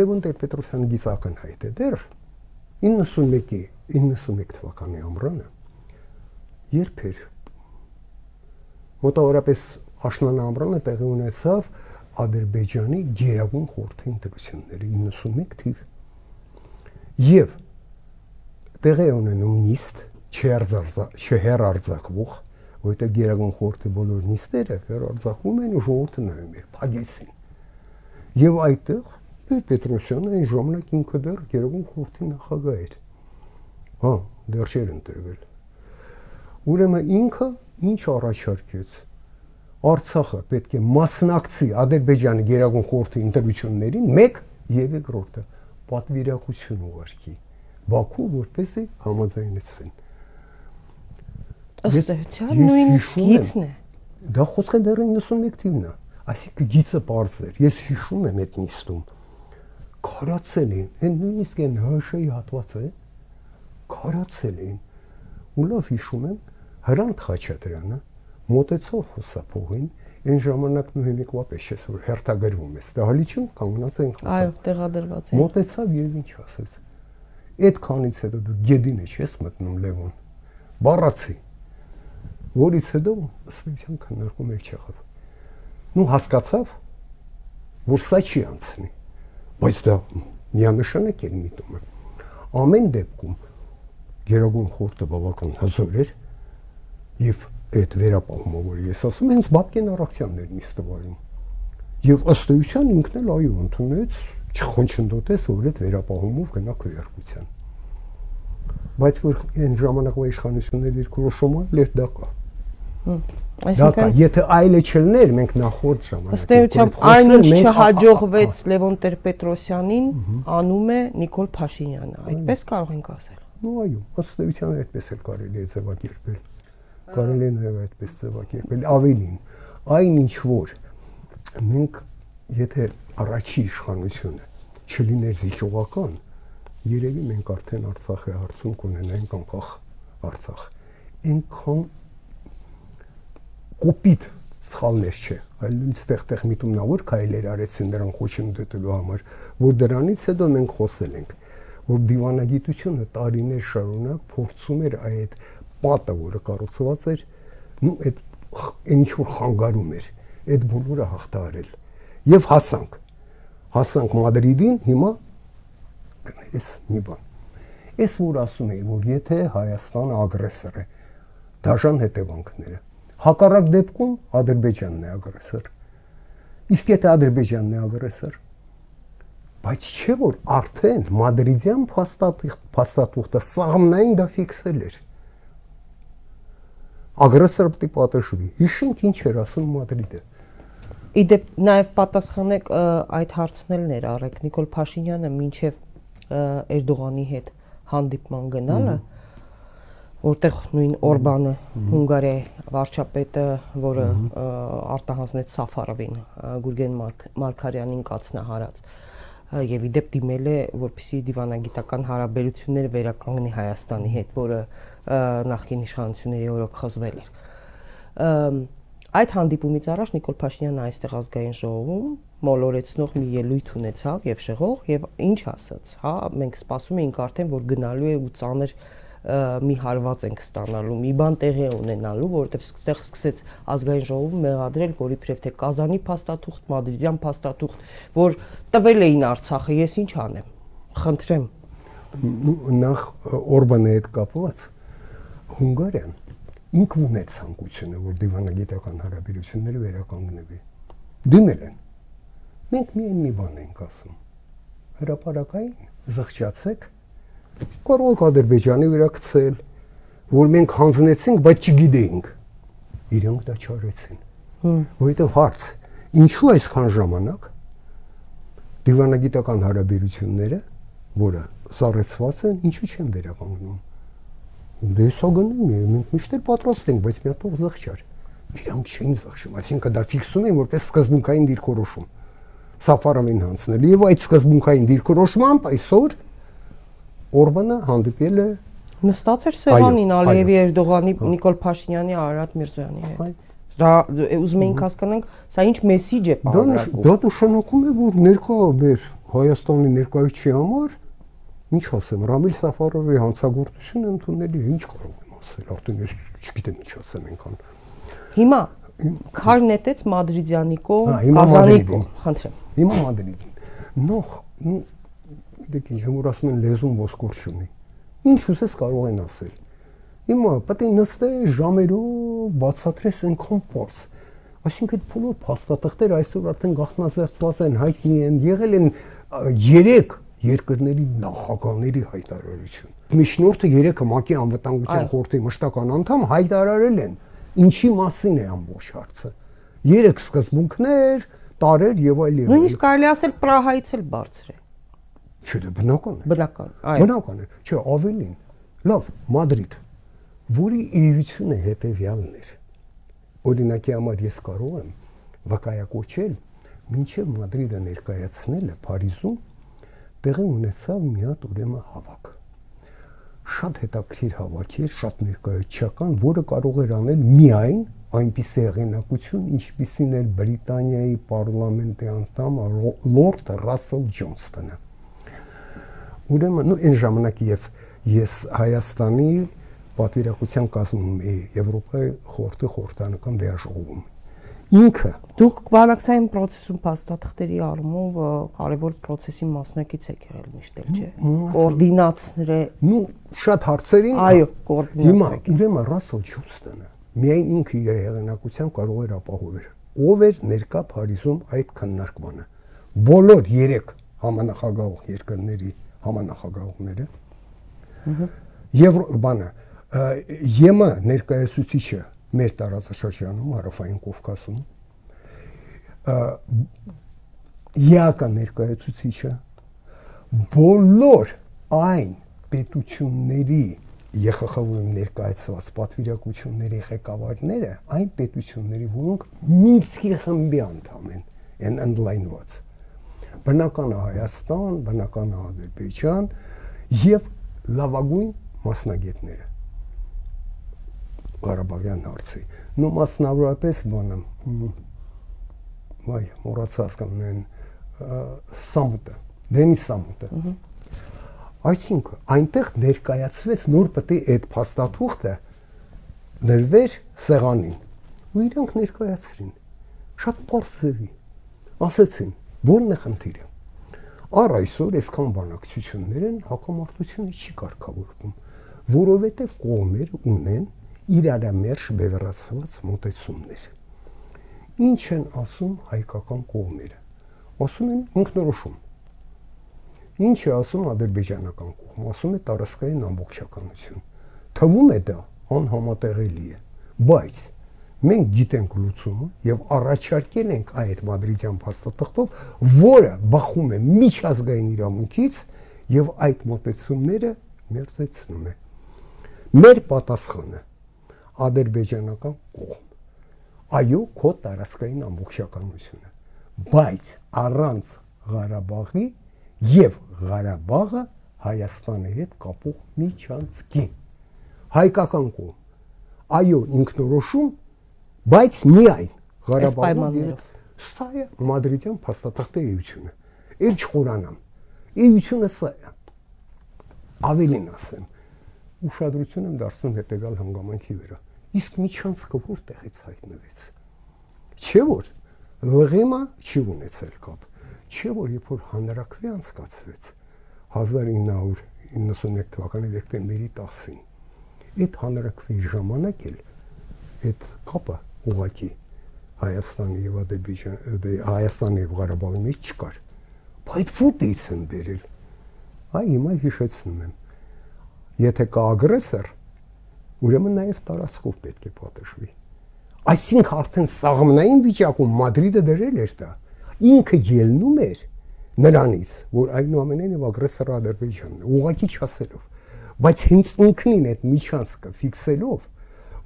Լևոն Տեր-Պետրոսյանի գիծը ակնհայտ է դեռ 91 թվականի ամռանը, երբ էր մոտավորապես աշնան ամռանը տեղի ունեցավ Ադրբեջանի Գերագույն խորհրդի ընտրությունները 91 թիվ։ Եվ տեղի ունենում նիստ չհեռարձակվող, որտեղ Գերագույն խորհրդի բոլոր նիստերը հեռարձակվում են ու ժողովուրդը նայում է փագեցին։ Եվ այդտեղ Պետրոսյանը այն ժամանակ ինքը դեռ Գերագույն խորհրդի նախագահ էր։ Հա, դեռ չէր ընտրվել։ Ուրեմն ինքը ինչ առաջարկեց։ Արցախը պետք է մասնակցի Ադրբեջանի Գերագույն խորհրդի ընտրություններին, մեկ եւ երկրորդը պատվիրակություն ուղարկի Բաքու, որպեսզի համաձայնեցվեն։ Ըստ էության նույն գիծն է։ Դա խոսքը դեռ 91 թիվն է, այսինքն գիծը པարզ էր։ Ես հիշում եմ այդ նիստում քարացել են, այն նույնիսկ այն ՀՇ-ի հատվածը քարացել են։ Ու լավ հիշում եմ Հրանտ Խաչատրյանը մոտեցավ խոսափողին, այն ժամանակ նույնիկվա պես չէ, որ հերթագրվում է, ստահալիչում կանգնած են խոսա։ Այո, տեղադրված է։ Մոտեցավ եւ ինչ ասեց։ Այդքանից հետո դու գեդինը չես մտնում Լևոն։ Բառացի, որից հետո ըստեյության քննարկում էլ չեղավ։ Ну հասկացավ, որ սա չի անցնի, բայց դա միանշանակ էր միտումը։ Ամեն դեպքում Գերագույն խորհուրդը բավական հզոր էր եւ այդ վերապահումը, որ ես ասում եմ, հենց Բաբկեն Արաքսյանն էր նիստվարում։ Եվ ըստ էության ինքն էլ այո ընդունեց, չխոչընդոտեց, որ այդ վերապահումով գնա քվեարկության։ Բայց որ այն ժամանակվա իշխանությունների դիրքորոշումը լեր դա կա։ Դա կա, եթե այլը չլներ, մենք նախորդ ժամանակ։ Ըստ էության այն ինչ չհաջողվեց Լևոն Տեր-Պետրոսյանին, անում է Նիկոլ Փաշինյանը, այդպես կարող ենք ասել։ Ну այո, ըստ էության այդպես էլ կարելի է ձևակերպել։ Կարելի է նաև այդպես ձևակերպել, ավելին, այն ինչ որ մենք եթե առաջի իշխանությունը չլիներ զիջողական, երևի մենք արդեն Արցախի հարցում կունենայինք անկախ Արցախ։ Այնքան կոպիտ սխալներ չէ, այլ նույնիսկ միտումնավոր քայլեր արեցին նրան խոչընդոտելու համար, որ դրանից հետո մենք խոսել ենք, որ դիվանագիտությունը տարիներ շարունակ փորձում էր այդ պատը, որը կառուցված էր, նու այդ ինչ որ խանգարում էր, այդ բոլորը հաղթահարել։ Եվ հասանք Մադրիդին, հիմա կներես մի բան։ Ես որ ասում եի, որ եթե Հայաստանը ագրեսոր է, դաժան հետևանքները, հակառակ դեպքում Ադրբեջանն է ագրեսոր։ Իսկ եթե Ադրբեջանն է ագրեսոր, բայց չէ որ արդեն Մադրիդյան փաստաթուղթը սահմանային դա ֆիքսել էր։ Ագրեսորը պետք է պատժվի։ Հիշենք ինչ էր ասում Մադրիդը։ Իդեպ նաև պատասխանեք այդ հարցն էլ ներառեք Նիկոլ Փաշինյանը մինչև Էրդողանի հետ հանդիպման գնալը, որտեղ նույն Օրբանը, Հունգարիայի վարչապետը, որը արտահանձնեց Սաֆարովին, Գուրգեն Մարգարյանին կացնահարած, եւ իդեպ դիմել է, որպեսզի դիվանագիտական հարաբերությունները վերականգնի Հայաստանի հետ, որը նախկին իշխանությունների օրոք խզվել էր։ Այդ հանդիպումից առաջ Նիկոլ Փաշինյանը այստեղ ազգային ժողովում մոլորեցնող մի ելույթ ունեցավ եւ շեղող եւ ինչ ասաց, հա, մենք սպասում էինք արդեն, որ գնալու է ու ծանր մի հարված ենք ստանալու, մի բան տեղի ունենալու, որովհետեւ այստեղ սկսեց ազգային ժողովում մեղադրել, որ իբրև թե Կազանի փաստաթուղթ, Մադրիդյան փաստաթուղթ, որ տվել էին Արցախը, ես ինչ անեմ, խնդրեմ։ Նախ Օրբանի հետ կապված Հունգարիան ինքն ուներ ցանկությունը, որ դիվանագիտական հարաբերությունները վերականգնվի։ Դիմել են։ Մենք միայն մի բան ենք ասում։ Հրապարակային զղջացեք, կարող եք Ադրբեջանի վրա գցել, որ մենք հանձնեցինք, բայց չգիտեինք։ Իրենք դա չարեցին։ Որովհետև հարց, ինչու այսքան ժամանակ դիվանագիտական հարաբերությունները, որը սառեցված են, ինչու չեն վերականգնում։ Դե սա գնեմ, մենք միշտ էլ պատրաստ ենք, բայց մի հատ զղջար։ Իրանք չէին զղջում, այսինքն դա ֆիքսում են որպես սկզբունքային դիրքորոշում։ Սաֆարովին հանձնել եւ այդ սկզբունքային դիրքորոշմամբ այսօր Օրբանը հանդիպել է նստած էր սեղանին Ալիևի Էրդողանի, Նիկոլ Փաշինյանի, Արարատ Միրզոյանի հետ։ Դա ուզում էինք հասկանանք, սա ինչ մեսիջ է պարունակում։ Դա նշանակում է, որ ներկա մեր Հայաստանի ներկայացի համար, ինչ ասեմ, Ռամիլ Սաֆարովի հանցագործությունը ընդունելի է, ինչ կարող եմ ասել, արդեն ես չգիտեմ ինչ ասեմ այնքան։ Հիմա քար նետեց Մադրիդյանի կողմ, Կազանի կողմ, խնդրեմ։ Հիմա Մադրիդին։ Նոխ, դեք ինչ որ ասում են լեզուն ոսկոր չունի։ Ինչ ուզես կարող են ասել։ Հիմա պետք է նստես ժամերով բացատրես այնքան պարզ։ Այսինքն այդ բոլոր փաստաթղթերը այսօր արդեն գաղտնազերծված են, հայտնի են, եղել են 3 երկրների նախագահների հայտարարություն։ Միջնորդը 3-ը ՄԱԿ-ի անվտանգության խորհրդի մշտական անդամ հայտարարել են, ինչի մասին է ամբողջ հարցը։ 3 սկզբունքներ, տարեր եւ այլ եւ այլ։ Նույնիսկ կարելի ասել Պրահայից էլ բարձր է։ Չէ, դա բնական է։ Բնական, այո։ Բնական է։ Չէ, ավելին։ Լավ, Մադրիդ, որի էությունը հետեւյալն էր։ Օրինակի համար ես կարող եմ վկայակոչել, մինչև Մադրիդը ներկայացնելը Փարիզում տեղի ունեցավ մի հատ ուրեմն հավաք։ Շատ հետաքրքիր հավաք էր, շատ ներկայացական, որը կարող էր անել միայն այնպիսի հեղինակություն, ինչպիսին էր Բրիտանիայի պարլամենտի անդամ Լորդ Ռասել Ջոնստոնը։ Ուրեմն այն ժամանակ ես Հայաստանի պատվիրակության կազմում էի Եվրոպայի խորհրդի խորհրդանական վերաժողովում։ Ինքը դուք բանակցային process-ում փաստաթղթերի առումով կարևոր process-ի մասնակից եք եղել միշտ էլ, չէ՞։ Կոորդինացրե։ Նու շատ հարցերին այո, կոորդինատոր։ Հիմա ուրեմն Ռասել Ջոնստոնը միայն ինքը իր հեղինակության կարող էր ապահովել։ Ով էր ներկա Փարիզում այդ քննարկմանը։ Բոլոր 3 համանախագահող երկրների համանախագահողները եւ ԵՄ ներկայացուցիչը մեր տարածաշրջանում Հարավային Կովկասում ԵԱԿ ներկայացուցիչը բոլոր այն պետությունների ԵԽԽՎ-ում ներկայացված պատվիրակությունների ղեկավարները այն պետությունների, որոնք Մինսկի խմբի անդամ են ընդլայնված բնական Հայաստան, բնական Ադրբեջան եւ լավագույն մասնագետները Ղարաբաղյան հարցի։ Նու մասնավորապես մոռացած կան Սամուտը, Դենիս Սամուտը։ Այսինքն այնտեղ ներկայացվեց նոր պետք է այդ փաստաթուղթը դրվեր սեղանին։ Ու իրանք ներկայացրին։ Շատ պարզ ձևի։ Ասեցին, որն է խնդիրը։ Առ այսօր այսքան բանակցություններ են, հակամարտությունը չի կարգավորվում, որովհետև կողմերը ունեն իրարամերժ բևեռացված մոտեցումներ։ Ինչ են ասում հայկական կողմերը։ Ասում են ինքնորոշում։ Ինչ է ասում ադրբեջանական կողմը, ասում է տարածքային ամբողջականություն։ Թվում է դա անհամատեղելի է, բայց մենք գիտենք լուծումը եւ առաջարկել ենք այդ մադրիդյան փաստաթղթով, որը բախում է միջազգային իրավունքից եւ այդ մոտեցումները մերձեցնում է։ Մեր պատասխանը ադրբեջանական կողմ։ Այո, քո տարածքային ամբողջականությունը, բայց առանց Ղարաբաղի եւ Ղարաբաղը Հայաստանի հետ կապող միջանցքի։ Հայկական կողմ։ Այո, ինքնորոշում, բայց միայն Ղարաբաղի սա է մադրիդյան փաստաթղթի էությունը։ Էլ չխորանամ։ Էությունը սա է։ Ավելին ասեմ, ուշադրություն եմ դարձնում հետեւյալ հանգամանքի վրա։ Իսկ միջանցքը որտեղից հայտնվեց։ Չէ՞ որ ԼՂՄ-ը չի ունեցել կապ։ Չէ՞ որ երբ որ հանրաքվե անցկացվեց 1991 թվականի դեկտեմբերի 10-ին, այդ հանրաքվեի ժամանակ էլ այդ կապը ուղղակի Հայաստանի եւ Հայաստանի եւ Ղարաբաղի մեջ չկար։ Բայց որտեղից են բերել։ Այ հիմա հիշեցնում եմ։ Եթե կա ագրեսոր, ուրեմն նաև տարածքով պետք է պատժվի։ Այսինքն արդեն սաղմնային վիճակում Մադրիդը դրել էր դա։ Ինքը ելնում էր նրանից, որ այնուամենայնիվ ագրեսորը Ադրբեջանն է, ուղղակի չասելով, բայց հենց ինքնին այդ միջանցքը ֆիքսելով,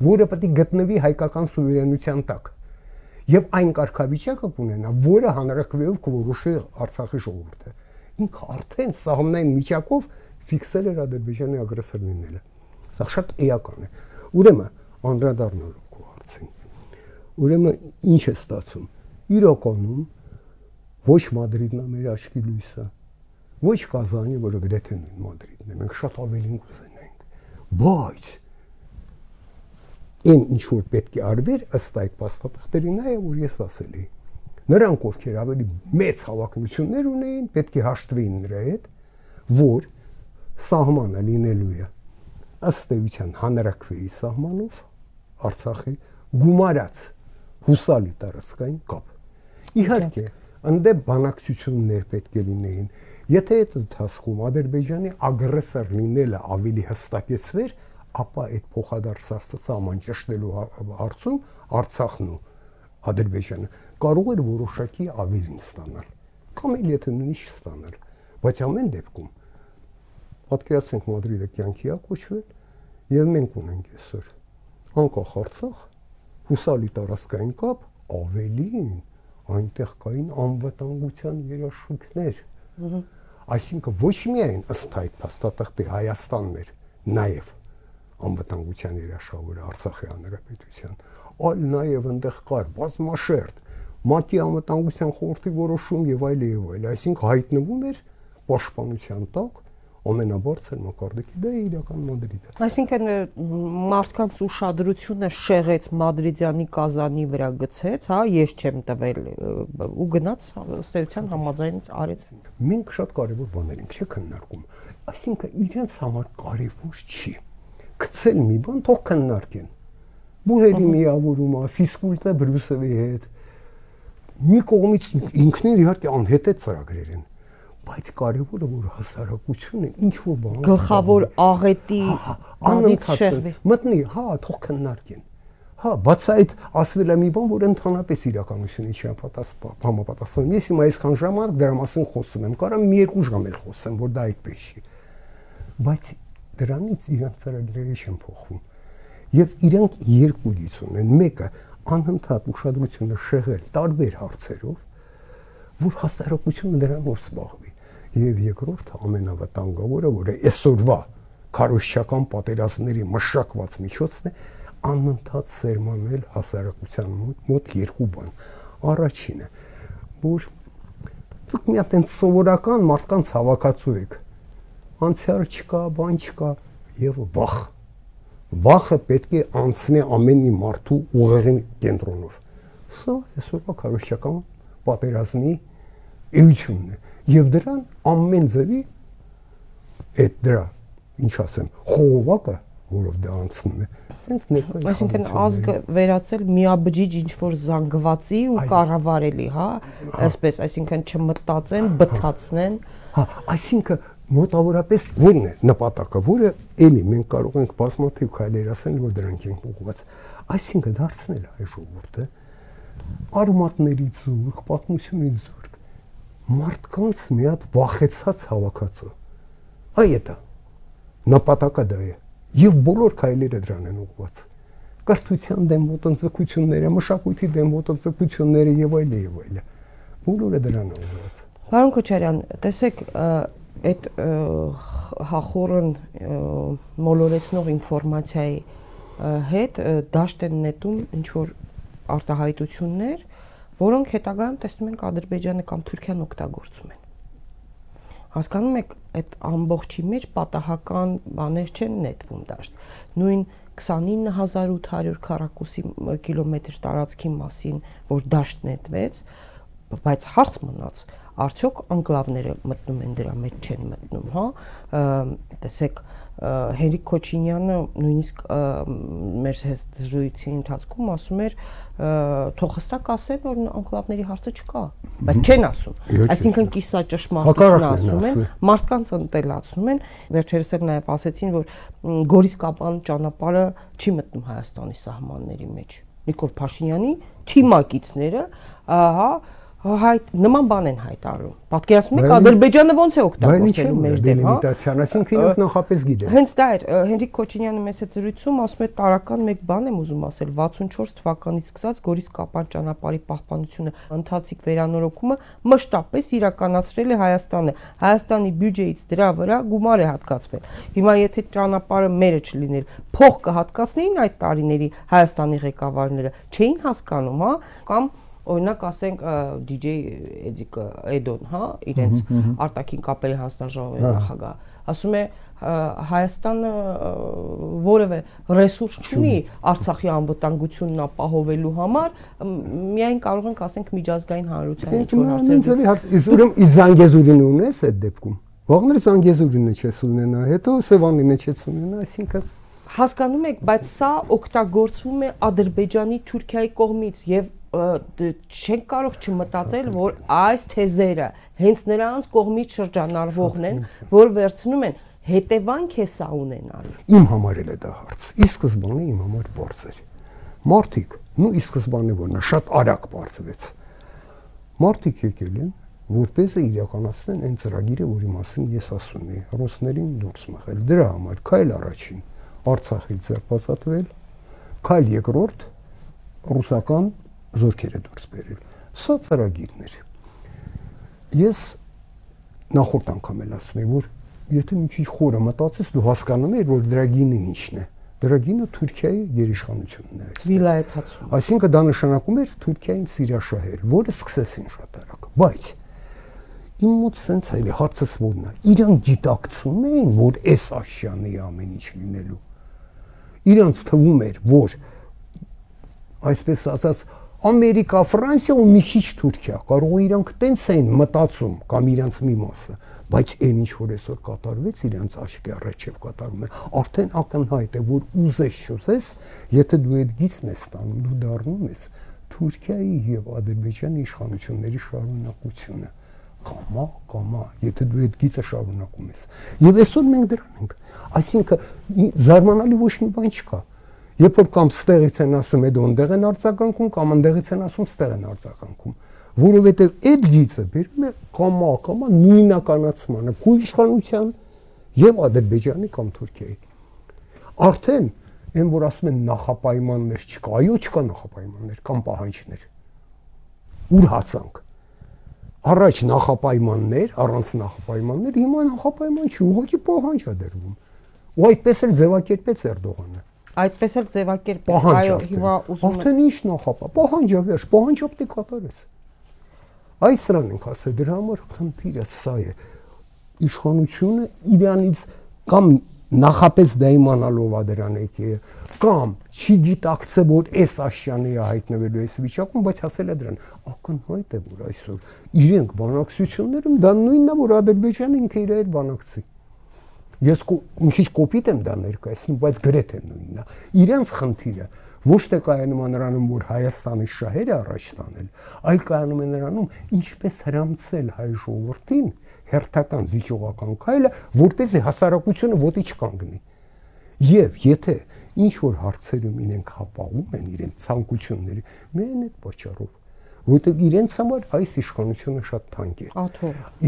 որը պետք է գտնվի հայկական սուվերենության տակ, եւ այն կարգավիճակը կունենա, որը հանրակրվեով կորոշի Արցախի ժողովուրդը։ Ինքը արդեն սահմանային միջակով ֆիքսել էր Ադրբեջանի ագրեսոր լինելը։ Սա շատ էական է։ Ուրեմն անդրադառնալով քո հարցին, ուրեմն ինչ է ստացվում։ Իրականում ոչ Մադրիդն է մեր աչքի լույսը, ոչ Կազանի, որը գրեթե նույն Մադրիդն է, մենք շատ ավելին կուզենայինք, բայց այն ինչ որ պետք է արվեր ըստ այդ փաստաթղթերի նայ, որ ես ասել էի, նրանք ովքեր ավելի մեծ հավակնություններ ունեին, պետք է հաշտվեին նրա հետ, որ սահմանը լինելու է ըստ էության հանրակրվեի սահմանով Արցախի գումարած հուսալի տարածքային կապ։ Իհարկե, ընդդեմ բանակցություններ պետք է լինեին։ Եթե այդ ընթացքում Ադրբեջանի ագրեսոր լինելը ավելի հստակեցվեր, ապա այդ փոխադարձ սահման ճշտելու հարցում Արցախն ու Ադրբեջանը կարող էր որոշակի ավելին ստանալ, կամ էլ եթե նույնիսկ չստանալ, բայց ամեն դեպքում պատկերացնենք Մադրիդը կյանքի է կոչվել, եւ մենք ունենք այսօր անկախ Արցախ, հուսալի տարածքային կապ, ավելին այնտեղ կային անվտանգության երաշխիքներ։ Այսինքն ոչ միայն ըստ այդ փաստաթղթի Հայաստանն էր նաեւ անվտանգության երաշխավորը Արցախի հանրապետության, այլ նաեւ այնտեղ կար բազմաշերտ ՄԱԿ-ի անվտանգության խորհրդի որոշում եւ այլ եւ այլ, այսինքն հայտնվում էր պաշտպանության տակ ամենաբարձր մակարդակի, դա իրական Մադրիդը։ Այսինքն մարդկանց ուշադրությունը շեղեց Մադրիդյանի Կազանի վրա գցեց, հա, ես չեմ տվել ու գնաց ըստ էության համաձայնից արեց։ Մենք շատ կարևոր բաներ ենք քննարկում, այսինքն իրենց համար կարևոր չի գցել մի բան, թող քննարկեն։ Բուհերի միավորումը, ֆիզկուլտը Բրյուսելի հետ մի կողմից ինքնին իհարկե անհետ է ծրագրեր են, բայց կարևորը որ հասարակությունը ինչ որ բան գլխավոր աղետի անից շեղվի մտնի, հա, թող քննարկեն։ Հա, բաց այդ ասվել է մի բան, որ ընդհանրապես իրականությունից չի համապատասխանում։ Ես հիմա այսքան ժամանակ դրա մասին խոսում եմ, կարամ մի երկու ժամ էլ խոսեմ, որ դա այդպես չի։ Բայց դրանից իրանք ծրագրերը չեն փոխվում։ Եվ իրանք երկու գիծ ունեն, մեկը անընդհատ ուշադրությունը շեղել տարբեր հարցերով, որ հասարակությունը դրանով զբաղվի։ Եվ երկրորդը ամենավտանգավորը, որը այսօրվա քարոզչական պատերազմների մշակված միջոցն է, անընդհատ սերմանել հասարակության մոտ երկու բան։ Առաջինը, որ դուք մի հատ սովորական մարդկանց հավաքածու եք։ Անցյալ չկա, բան չկա եւ վախ։ Վախը պետք է անցնի ամեն մի մարդու ուղեղի կենտրոնով։ Սա այսօրվա քարոզչական պատերազմի էությունն է եւ դրան ամեն ձևի այդ դրա ինչ ասեմ խողովակը որով դա անցնում է հենց ներկայ այսինքն ազգը վերածել միաբջիջ ինչ որ զանգվածի ու կառավարելի, հա, այսպես, այսինքն չմտածեն, բթացնեն, հա, այսինքն մոտավորապես որն է նպատակը, որը էլի մենք կարող ենք բազմաթիվ քայլեր ասել, որ դրանք են ուղղված, այսինքն դարձնել հայ ժողովուրդը արմատների զուրկ, պատմությունից զուրկ, մարդկանց մի հատ վախեցած հավաքածու։ Այդ է նպատակը դա է, եւ բոլոր քայլերը դրան են ուղղված։ Կրթության դեմ ոտնձգությունները, մշակույթի դեմ ոտնձգությունները եւ այլն, բոլորը դրան են ուղղված։ Պարոն Քոչարյան, տեսեք, այդ հախորն մոլորեցնող ինֆորմացիայի հետ դաշտ են նետում ինչ որ արտահայտություններ, որոնք հետագայում տեսնում ենք Ադրբեջանը կամ Թուրքիան օգտագործում են։ Հասկանում եք, այդ ամբողջի մեջ պատահական բաներ չեն նետվում դաշտ։ Նույն 29800 քառակուսի կիլոմետր տարածքի մասին, որ դաշտ նետվեց, բայց հարց մնաց, արդյոք անկլավները մտնում են դրա մեջ չեն մտնում, հա, տեսեք Հենրիկ Քոչինյանը նույնիսկ մեր զրույցի ընթացքում ասում էր թող հստակ ասեն որ անկլավների հարցը չկա, բայց չեն ասում, այսինքն կիսաճշմարտություն ասում են, մարդկանց ընտելացնում են, վերջերս էլ նաև ասեցին, որ Գորիս-Կապան ճանապարհը չի մտնում Հայաստանի սահմանների մեջ, Նիկոլ Փաշինյանի թիմակիցները, հա, նման բան են հայտարարում։ Պատկերացնում եք Ադրբեջանը ոնց է օգտագործելու մեր դեմ, հա։ Դելիմիտացիան, այսինքն իրենք նախապես գիտեն։ Հենց դա էր Հենրիկ Քոչինյանը մեծ զրույցում ասում է տարական մեկ բան եմ ուզում ասել 64 թվականից սկսած Գորիս Կապան ճանապարհի պահպանությունը ընթացիկ վերանորոգումը մշտապես իրականացրել է Հայաստանը։ Հայաստանի բյուջեից դրա վրա գումար է հատկացվել։ Հիմա եթե ճանապարհը մերը չլիներ, փող կհատկացնեին այդ տարիների Հայաստանի ղեկավարները, չէին հասկանում, հա, կամ օրինակ ասենք DJ Էդոն, հա, իրենց արտաքին կապերի հանձնաժողովի նախագահ, ասում է Հայաստանը որևէ ռեսուրս չունի Արցախի անվտանգությունն ապահովելու համար, միայն կարող ենք ասենք միջազգային հանրության Իսկ Զանգեզուրին ունես այդ դեպքում։ Ողներ Զանգեզուրինը չես ունենա, հետո Սևանինը չես ունենա, այսինքն հասկանում եք, բայց սա օգտագործվում է Ադրբեջանի Թուրքիայի կողմից եւ չենք կարող չմտածել, որ այս թեզերը հենց նրանց կողմից շրջանառվողն են, որ վերցնում են հետևանք է սա ունենալու։ Իմ համար էլ է դա հարց։ Ի սկզբանե իմ համար բարձ էր։ Մարդիկ, ի սկզբանե որ նա շատ արագ բարձվեց։ Մարդիկ եկել են, որպես իրականացնեն այն ծրագիրը, որի մասին ես ասում եի, ռուսներին դուրս մղել։ Դրա համար քայլ առաջին Արցախից ձերբազատվել, քայլ երկրորդ ռուսական զորքերը դուրս բերել։ Սա ծրագիրն էր։ Ես նախորդ անգամ էլ ասում եմ, որ եթե մի քիչ խորը մտածես, դու հասկանում ես, որ դրա գինը ինչն է։ Դրա գինը Թուրքիայի գերիշխանությունն է։ Վիլայեթացում։ Այսինքն դա նշանակում էր Թուրքիային սիրաշահել, որը սկսեցին շատ արագ։ Բայց իմ մոտ սենց այլ է, հարցս որն է։ Իրանք գիտակցում էին, որ այս աշյանի ամեն ինչ լինելու։ Իրանց թվում էր, որ այսպես ասած Ամերիկա, Ֆրանսիա ու մի քիչ Թուրքիա, կարող է իրանք տենց էին մտածում կամ իրանց մի մասը, բայց այն ինչ որ այսօր կատարվեց իրանց աչքի առաջև կատարում է, արդեն ակնհայտ է, որ ուզես չուզես, եթե դու այդ գիծն ես ստանում, դու դառնում ես Թուրքիայի եւ Ադրբեջանի իշխանությունների շարունակությունը։ Կամա, եթե դու այդ գիծը շարունակում ես։ Եվ այսօր մենք դրան ենք։ Այսինքն զարմանալի ոչ մի բան չկա։ Երբ որ կամ ստեղից են ասում այդ ոնդեղ են արձագանքում, կամ ընդեղից են ասում ստեղ են արձագանքում, որովհետև այդ գիծը բերում է կամա նույնականացմանը քո իշխանության եւ Ադրբեջանի կամ Թուրքիայի։ Արդեն այն որ ասում են նախապայմաններ չկա, այո չկա նախապայմաններ կամ պահանջներ։ Ուր հասանք։ Առաջ նախապայմաններ, առանց նախապայմաններ, հիմա նախապայման չի, ուղղակի պահանջ է դրվում։ Ու այդպես էլ ձևակերպեց Էրդողանը։ Այդպես էլ ձևակերպեց, այո, հիմա ուզում եմ։ Արդեն ինչ նախապա, պահանջը վերջ, պահանջը պետք է կատարես։ Այս սրան ենք ասել, դրա համար խնդիրը սա է։ Իշխանությունը իրանից կամ նախապես դա իմանալով է դրան եկել, կամ չի գիտակցել, որ այս աշյանի է հայտնվելու այս վիճակում, բայց ասել է դրան, ակնհայտ է, որ այսօր իրենք բանակցություններում դա նույնն է, որ Ադրբեջանը ինքը իր հետ բանակցի։ Ես մի քիչ կոպիտ եմ դա ներկայացնում, բայց գրեթե նույնն է։ Իրենց խնդիրը ոչ թե կայանում է նրանում, որ Հայաստանի շահերը առաջ տանել, այլ կայանում է նրանում, ինչպես հրամցել հայ ժողովրդին հերթական զիջողական քայլը, որպեսզի հասարակությունը ոտի չկանգնի։ Եվ եթե ինչ որ հարցերում իրենք հապաղում են իրենց ցանկությունների, միայն այդ պատճառով, որովհետև իրենց համար այս իշխանությունը շատ թանկ է։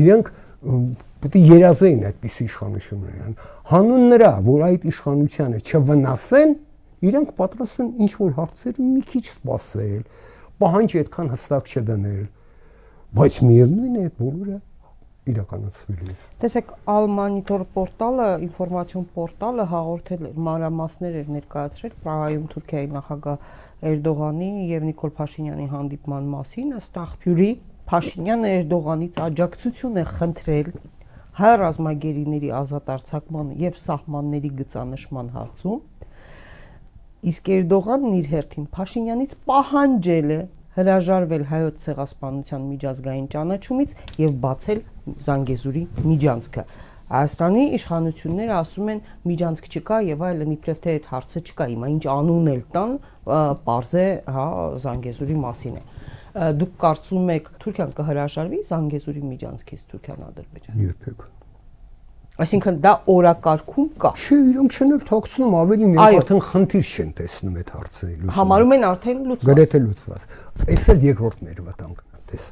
Իրենք պետք է երազեին այդպիսի իշխանություններ։ Հանուն նրա, որ այդ իշխանությանը չվնասեն, իրենք պատրաստ են ինչ որ հարցերում մի քիչ սպասել, պահանջ այդքան հստակ չդնել, բայց միևնույն է այդ բոլորը իրականացվելու է։ Տեսեք, Al-Monitor պորտալը, ինֆորմացիոն պորտալը հաղորդել էր մանրամասներ էր ներկայացրել Պրահայում Թուրքիայի նախագահ Էրդողանի եւ Նիկոլ Փաշինյանի հանդիպման մասին, ըստ աղբյուրի Փաշինյանը Էրդողանից աջակցություն է խնդրել հայ ռազմագերիների ազատ արձակման եւ սահմանների գծանշման հարցում, իսկ Էրդողանն իր հերթին Փաշինյանից պահանջել է հրաժարվել հայոց ցեղասպանության միջազգային ճանաչումից եւ բացել Զանգեզուրի միջանցքը։ Հայաստանի իշխանությունները ասում են միջանցք չկա եւ այլն, իբրև թե այդ հարցը չկա, հիմա ինչ անուն էլ տան, պարզ է, հա, Զանգեզուրի մասին է։ Դուք կարծում եք Թուրքիան կհրաժարվի Զանգեզուրի միջանցքից Թուրքիան Ադրբեջան։ Երբեք։ Այսինքն դա օրակարգում կա։ Չէ, իրենք չեն էլ թաքցնում, ավելին իրենք արդեն խնդիր չեն տեսնում այդ հարցը լուծում։ Համարում են արդեն լուծված։ Գրեթե լուծված։ Այս էլ երկրորդ մեր վտանգն է, տես։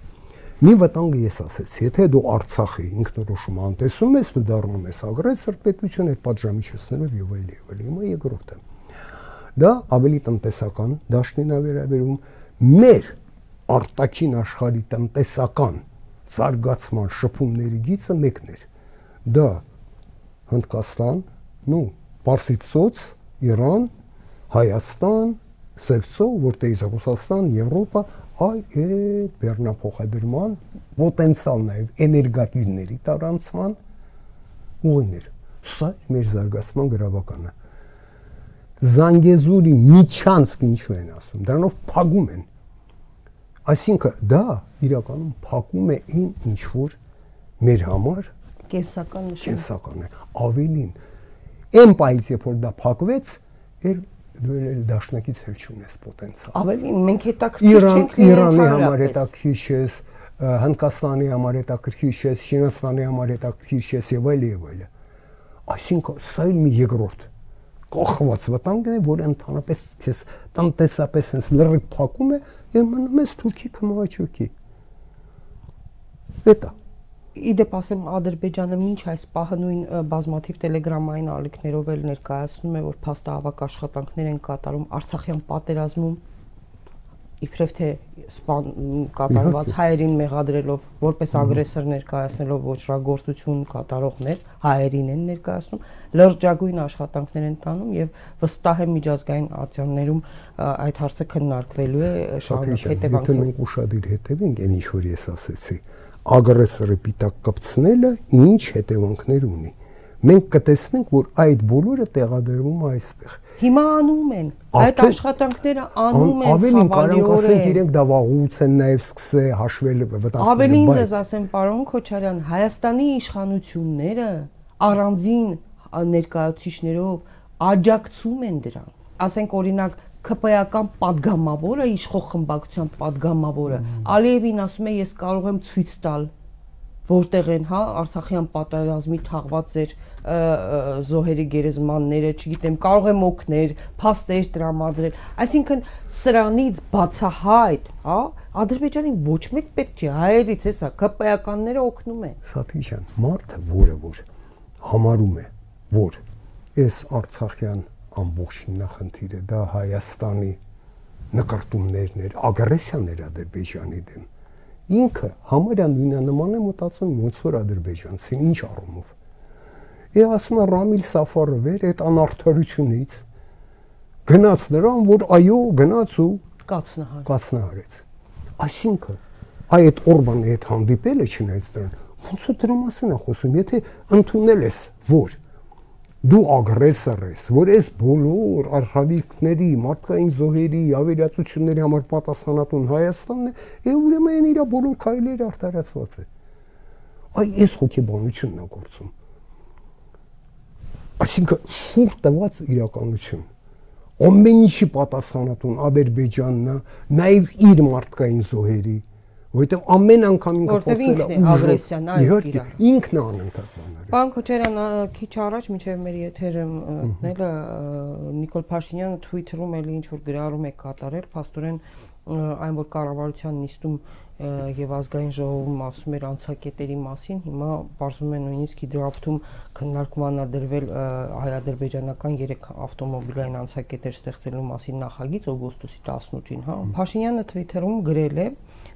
Մի վտանգը ես ասեցի, եթե դու Արցախի ինքնորոշումը անտեսում ես, դու դառնում ես ագրեսոր պետություն, այդ պատժամիջոցներով եւ այլ եւ այլ։ Հիմա երկրորդը։ Դա ավելի տնտեսական դաշտին է վերաբերում, մեր արտաքին աշխարհի տնտեսական զարգացման շփումների գիծը մեկն էր։ Դա Հնդկաստան, Պարսից ծոց, Իրան, Հայաստան, Սևծով, որտեղից Ռուսաստան, Եվրոպա, այդ բեռնափոխադրման պոտենցիալ նաև էներգատիրների տարանցման ուղիներ։ Սա մեր զարգացման գրավականը։ Զանգեզուրի միջանցք ինչու են ասում, դրանով փակում են։ Այսինքն դա իրականում փակում է ինչ որ մեր համար կենսական է։ Ավելին, այն պայից երբ որ դա փակվեց, դու էլ դաշնակից հել չունես պոտենցիալ։ Ավելին, մենք հետաքրքիր չենք Իրանի համար հետաքրքիր ես, Հնդկաստանի համար հետաքրքիր ես, Չինաստանի համար հետաքրքիր ես եւ այլ եւ այլ։ Այսինքն սա էլ մի երկրորդ կողված վտանգ է, որ ընդհանրապես քեզ տնտեսապես հենց լրիվ փակում է եւ մնում ես Թուրքի քմահաճույքի։ Դա Իդեպ ասեմ, Ադրբեջանը մինչ այս պահը նույն բազմաթիվ տելեգրամային ալիքներով էլ ներկայացնում է, որ փաստահավաք աշխատանքներ են կատարում Արցախյան պատերազմում, իբրև թե կատարված հայերին մեղադրելով, որպես ագրեսոր ներկայացնելով ոչռագործություն կատարողներ, հայերին են ներկայացնում, լրջագույն աշխատանքներ են տանում եւ վստահ եմ միջազգային ատյաններում այդ հարցը քննարկվելու է շարունակ հետևանքով։ Եթե մենք ուշադիր հետևենք, այն ինչ որ ես ասեցի, ագրեսորը պիտակ կպցնելը ինչ հետևանքներ ունի։ Մենք կտեսնենք, որ այդ բոլորը տեղադրվում է այստեղ։ Հիմա անում են, այդ աշխատանքները անում են ավելին կարող ասենք իրենք դա վաղուց են նաև սկսել հաշվել վտանգել։ Ավելին ես ասեմ, պարոն Քոչարյան, Հայաստանի իշխանությունները առանձին ներկայացուցիչներով աջակցում են դրան։ Ասենք օրինակ ԿՊ-ական падգամավորը, իշխող խմբակցության падգամավորը Ալիևին ասում է, ես կարող եմ ցույց տալ, որտեղ են, Արցախյան պատերազմի թաղված ձեր զոհերի գերեզմանները, չգիտեմ, կարող եմ օգնել, փաստեր տրամադրել։ Այսինքն սրանից բացահայտ, Ադրբեջանի ոչ մեկ պետք չի, հայերից էսա, ԿՊ-ականները օգնում են։ Սաթիչյան, մարդը, որ համարում է, որ այս Արցախյան ամբողջին նախնդիրը դա Հայաստանի նկարտումներն էր, ագրեսիան էր Ադրբեջանի դեմ։ Ինքը համարյա նույնանման է մտածում, ոնց որ ադրբեջանցին ինչ առումով։ Ասում է Ռամիլ Սաֆարովը այդ անարդարությունից գնաց նրան, որ այո, գնաց ու կացնահարեց։ Այսինքն այդ Օրբանի հետ հանդիպելը չնայած դրան, ոնց որ դրա մասին է խոսում, եթե ընդունել ես, որ դու ագրեսոր ես, որ այս բոլոր արխավիկների, մարդկային զոհերի, ավերածությունների համար պատասխանատուն Հայաստանն է, ուրեմն իր բոլոր քայլերը արդարացված է։ Այս հոգեբանությունն է գործում։ Այսինքն շուրջ տված իրականություն։ Ամեն ինչի պատասխանատուն Ադրբեջանն է, նաև իր մարդկային զոհերի, որովհետև ամեն անգամ ինքը փորձել է ագրեսիան, ինքն է անընդհատ բաներ։ Պարոն Քոչարյան, քիչ առաջ մինչև մեր եթերը մտնելը Նիկոլ Փաշինյանը Twitter-ում էլի ինչ որ գրառում է կատարել, փաստորեն այն որ կառավարության նիստում եւ ազգային ժողովում ասում էր անցակետերի մասին, հիմա բարձում է նույնիսկ դրաֆթում քննարկման ադրվել հայ-ադրբեջանական 3 ավտոմոբիլային անցակետեր ստեղծելու մասին նախագիծ օգոստոսի 18-ին, Փաշինյանը Twitter-ում գրել է,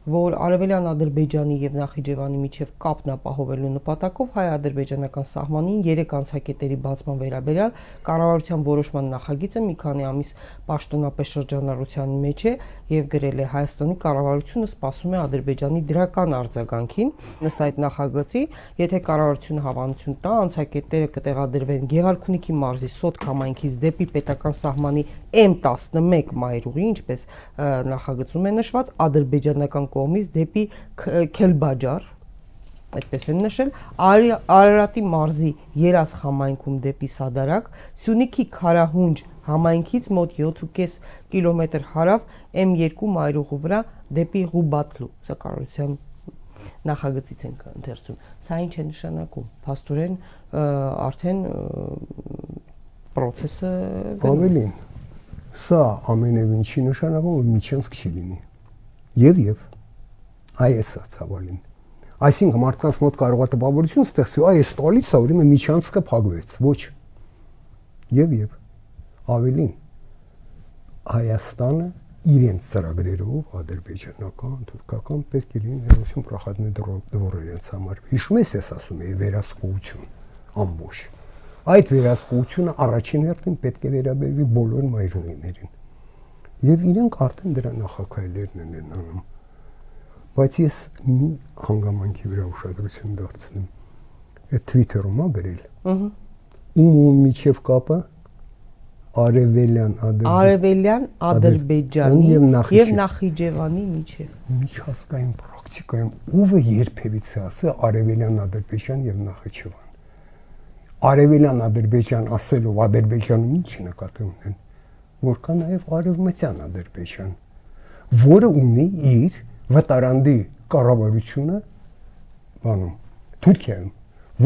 որ Արևելյան Ադրբեջանի եւ Նախիջևանի միջև կապն ապահովելու նպատակով հայ-ադրբեջանական սահմանին 3 անցակետերի բացման վերաբերյալ կառավարության որոշման նախագիծը մի քանի ամիս պաշտոնապես շրջանառության մեջ է եւ գրել է Հայաստանի կառավարությունը սպասում է Ադրբեջանի դրական արձագանքին ըստ այդ նախագծի, եթե կառավարությունը հավանություն տա, անցակետերը կտեղադրվեն Գեղարքունիքի մարզի Սոտք համայնքից դեպի պետական սահմանի M11 մայրուղի, ինչպես նախագծում է նշված, ադրբեջանական կողմից դեպի Քելբաջար, այդպես են նշել, Արարատի մարզի Երաս համայնքում դեպի Սադարակ, Սյունիքի Քարահունջ համայնքից մոտ 7.5 կիլոմետր հարավ M2 մայրուղու վրա դեպի Ղուբատլու, սա կառավարության նախագծից ենք ընթերցում։ Սա ինչ է նշանակում։ Փաստորեն արդեն process-ը ավելին։ Սա ամենևին չի նշանակում, որ միջանցք չի լինի։ Եվ Այս է ցավալին։ Այսինքն մարդկանց մոտ կարող է տպավորություն ստեղծվի, այս տալիս է, ուրեմն միջանցքը փակվեց։ Ոչ։ Եվ ավելին Հայաստանը իրենց ծրագրերով ադրբեջանական, թուրքական պետք է լինի ներողություն պրախատներ դվոր իրենց համար։ Հիշում ես, ես ասում եի վերահսկողություն ամբողջ։ Այդ վերահսկողությունը առաջին հերթին պետք է վերաբերվի բոլոր մայրուղիներին։ Եվ իրենք արդեն դրա նախակայլերն են անում։ Բայց ես մի հանգամանքի վրա ուշադրություն դարձնեմ։ Այդ Twitter-ում է գրել։ Ում միջև կապը Արևելյան Ադրբեջանի եւ Նախիջևանի միջև։ Միջազգային պրակտիկայում ով է երբևիցե ասել Արևելյան Ադրբեջան եւ Նախիջևան։ Արևելյան Ադրբեջան ասելով Ադրբեջանում ինչ նկատի ունեն, որքան նաեւ Արևմտյան Ադրբեջան, որը ունի իր վտարանդի կառավարությունը բանում Թուրքիայում,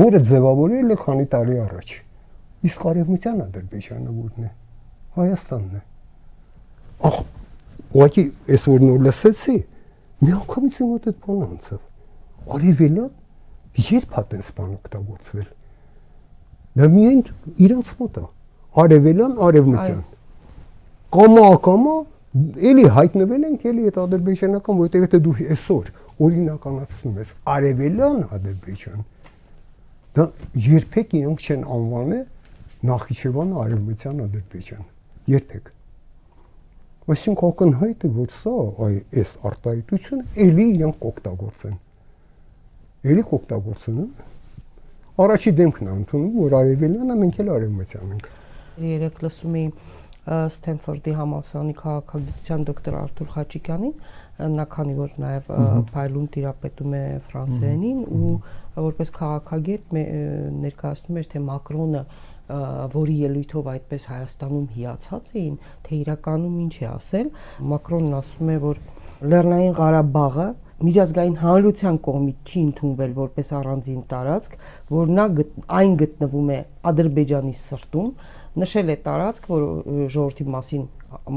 որը ձևավորել է քանի տարի առաջ։ Իսկ Արևմտյան Ադրբեջանը որն է։ Հայաստանն է։ Ախ, ուղղակի այս որ նոր լսեցի, մի անգամից իմ մոտ այդ բանը անցավ։ Արևելյան երբ հատ են սպան օգտագործվել։ Դա միայն իրանց մոտ է։ Արևելյան, Արևմտյան։ Կամա էլի հայտնվել ենք էլի այդ ադրբեջանական, որտեղ եթե դու այսօր օրինականացնում ես Արևելյան Ադրբեջան, դա երբեք իրենք չեն անվանել Նախիջևանը Արևմտյան Ադրբեջան։ Երբեք։ Այսինքն ակնհայտ է, որ սա այս արտահայտությունը էլի իրենք կօգտագործեն։ Էլի կօգտագործեն։ Առաջի դեմքն է ընդունում, որ Արևելյանը մենք էլ Արևմտյան ենք։ Երեք լսում էի Ստենֆորդի համալսարանի քաղաքագիտության դոկտոր Արթուր Խաչիկյանին, նա քանի որ նաև փայլուն տիրապետում է ֆրանսերենին ու որպես քաղաքագետ ներկայացնում էր, թե Մակրոնը որի ելույթով այդպես Հայաստանում հիացած էին, թե իրականում ինչ է ասել։ Մակրոնն ասում է, որ Լեռնային Ղարաբաղը միջազգային հանրության կողմից չի ընդունվել որպես առանձին տարածք, որ այն գտնվում է Ադրբեջանի սրտում, նշել է տարածք, որ ժողովրդի մասին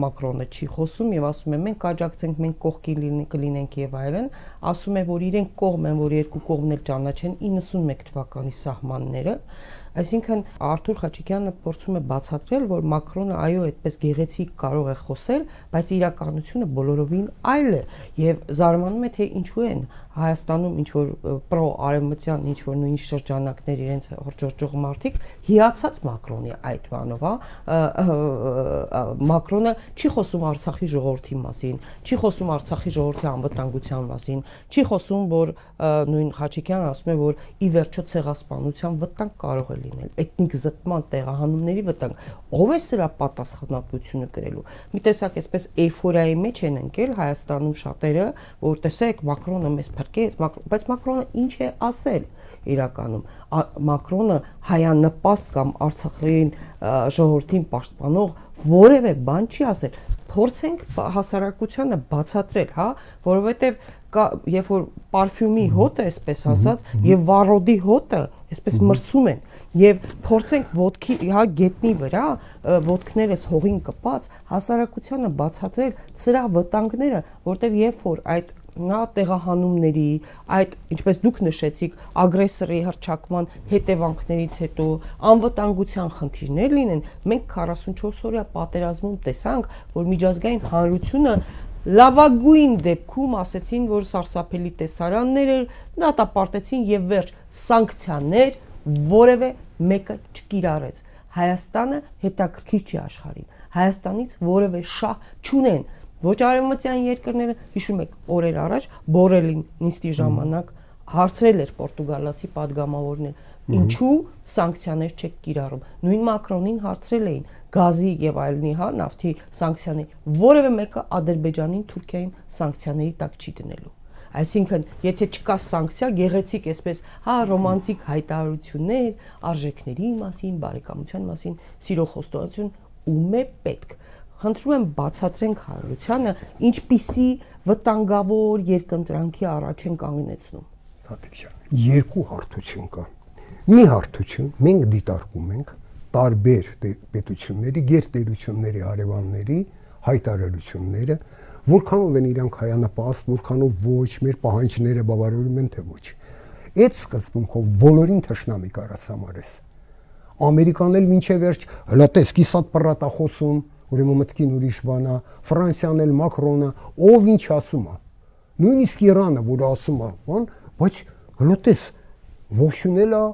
Մակրոնը չի խոսում եւ ասում է մենք կաջակցենք, մենք կողքին կլինենք եւ այլն, ասում է որ իրենք կողմ են, որ երկու կողմն էլ ճանաչեն 91 թվականի սահմանները, այսինքն Արթուր Խաչիկյանը փորձում է բացատրել, որ Մակրոնը այո այդպես գեղեցիկ կարող է խոսել, բայց իրականությունը բոլորովին այլ է եւ զարմանում է թե ինչու են Հայաստանում ինչ որ պրո-արևմտյան ինչ որ նույն շրջանակներ իրենց հորճորջող մարդիկ հիացած Մակրոնի այդ բանով, Մակրոնը չի խոսում Արցախի ժողովրդի մասին, չի խոսում Արցախի ժողովրդի անվտանգության մասին, չի խոսում, որ նույն Խաչիկյանը ասում է, որ ի վերջո ցեղասպանության վտանգ կարող է լինել, էթնիկ զտման տեղահանումների վտանգ, ով է սրա պատասխանատվությունը կրելու։ Մի տեսակ այսպես էյֆորիայի մեջ են ընկել Հայաստանում շատերը, որ տեսեք Մակրոնը մեզ փրկեց, բայց Մակրոնը ինչ է ասել իրականում։ Մակրոնը հայանպաստ կամ Արցախին ժողովրդին պաշտպանող որևէ բան չի ասել։ Փորձենք հասարակությանը բացատրել, հա, որովհետև երբ որ պարֆյումի հոտը, այսպես ասած, եւ վառոդի հոտը, այսպես մրցում են, եւ փորձենք ոտքի, հա, գետնի վրա, ոտքներս հողին կպած, հասարակությանը բացատրել սրա վտանգները, որտեղ երբ որ այդ նա տեղահանումների, այդ ինչպես դուք նշեցիք, ագրեսորի հռչակման հետևանքներից հետո անվտանգության խնդիրներ լինեն, մենք 44 օրյա պատերազմում տեսանք, որ միջազգային հանրությունը լավագույն դեպքում ասեցին, որ սարսափելի տեսարաններ էր, դատապարտեցին եւ վերջ սանկցիաներ որևէ մեկը չկիրառեց։ Հայաստանը հետաքրքիր չի աշխարհին։ Հայաստանից որևէ շահ չունեն։ Ոչ արևմտյան երկրները, հիշում եք, օրեր առաջ Բորելին նիստի ժամանակ հարցրել էր պորտուգալացի падգամավորն ինչու սանկցիաներ չեք կիրառում։ Նույն Մակրոնին հարցրել էին գազի եւ այլնի, հա, նավթի սանկցիաներ, որևէ մեկը Ադրբեջանին, Թուրքիային սանկցիաների տակ չի դնելու։ Այսինքն, եթե չկա սանկցիա, գեղեցիկ այսպես, հա, ռոմանտիկ հայտարարություններ, արժեքների մասին, բարեկամության մասին, սիրո խոստովանություն ում է պետք։ Խնդրում եմ բացատրենք հանրությանը, ինչպիսի վտանգավոր երկընտրանքի առաջ են կանգնեցնում։ Սաթիկ ջան, երկու հարթություն կա։ Մի հարթություն մենք դիտարկում ենք տարբեր պետությունների, գերտերությունների հարևանների հայտարարությունները, Որքանով են իրանք հայանպաստ, որքանով ոչ, մեր պահանջները բավարարում են թե ոչ։ Այդ սկզբունքով բոլորին թշնամի կարաս համարես։ Ամերիկանն էլ մինչև վերջ հլա տես կիսատ պռատա խոսում, ուրեմն մտքին ուրիշ բան է, Ֆրանսիան էլ Մակրոնը, ով ինչ ասում է։ Նույնիսկ Իրանը, որ ասում է, բան, բայց հլա տես ողջունել է,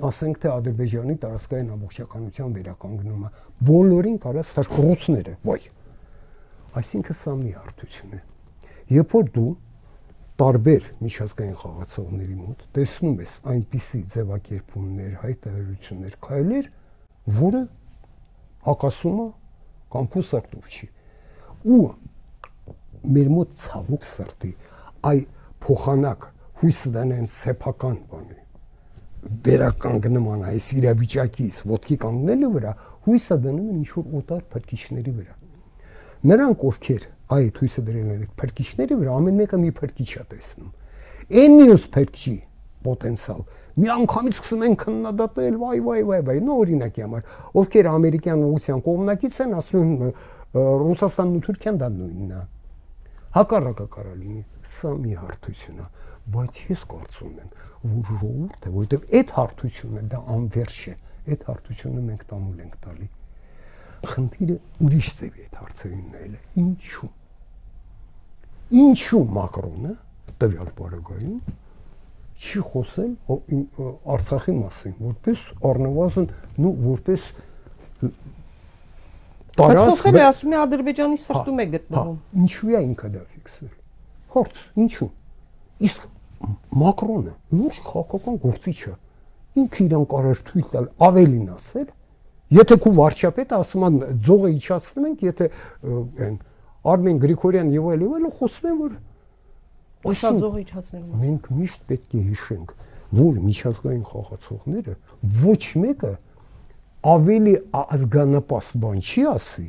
ասենք թե Ադրբեջանի տարածքային ամբողջականության վերականգնումը, բոլորին կարաս ռուսները, ոյ։ Այսինքն սա մի հարթություն է։ Երբ որ դու տարբեր միջազգային խաղացողների մոտ տեսնում ես այնպիսի ձևակերպումներ, հայտարարություններ, քայլեր, որը հակասում է կամ փուսարտով չի։ Ու մեր մոտ ցավոք սրտի այ փոխանակ հույս դնեն սեփական բանի վերականգնման այս իրավիճակից ոտքի կանգնելու վրա հույսը դնում են ինչ-որ օտար փրկիչների վրա։ Նրանք ովքեր այդ հույսը դրել են փրկիչների վրա, ամեն մեկը մի փրկիչ է տեսնում։ Այն մյուս փրկչի պոտենցիալ մի անգամից սկսում են քննադատել, վայ, նո օրինակի համար, ովքեր ամերիկյան ուղղության կողմնակից են, ասում են Ռուսաստանն ու Թուրքիան դա նույնն է։ Հակառակը կարա լինի, սա մի հարթություն է, բայց ես կարծում եմ, որ ժողովուրդը, որովհետև այդ հարթությունը դա անվերջ է, այդ հարթությունը մենք տանուլ ենք տալի։ Խնդիրը ուրիշ ձևի այդ հարցերին նայել է։ Ինչու Մակրոնը տվյալ պարագայում չի խոսել Արցախի մասին, որպես առնվազն, որպես տարածք։ Խոսել է, ասում է Ադրբեջանի սրտում է գտնվում։ Ինչու է ինքը դա ֆիքսել։ Հարց, ինչու։ Իսկ Մակրոնը լուրջ քաղաքական գործիչ է։ Ինքը իրան կարար թույլ տալ ավելին ասել, եթե քո վարչապետը ասում է ձողը իջացնում ենք, եթե այն Արմեն Գրիգորյան եւ այլն խոսում են, որ Ոսա ձողը իջացնելու մասին։ Մենք միշտ պետք է հիշենք, որ միջազգային խաղացողները ոչ մեկը ավելի ազգանապաստ բան չի ասի,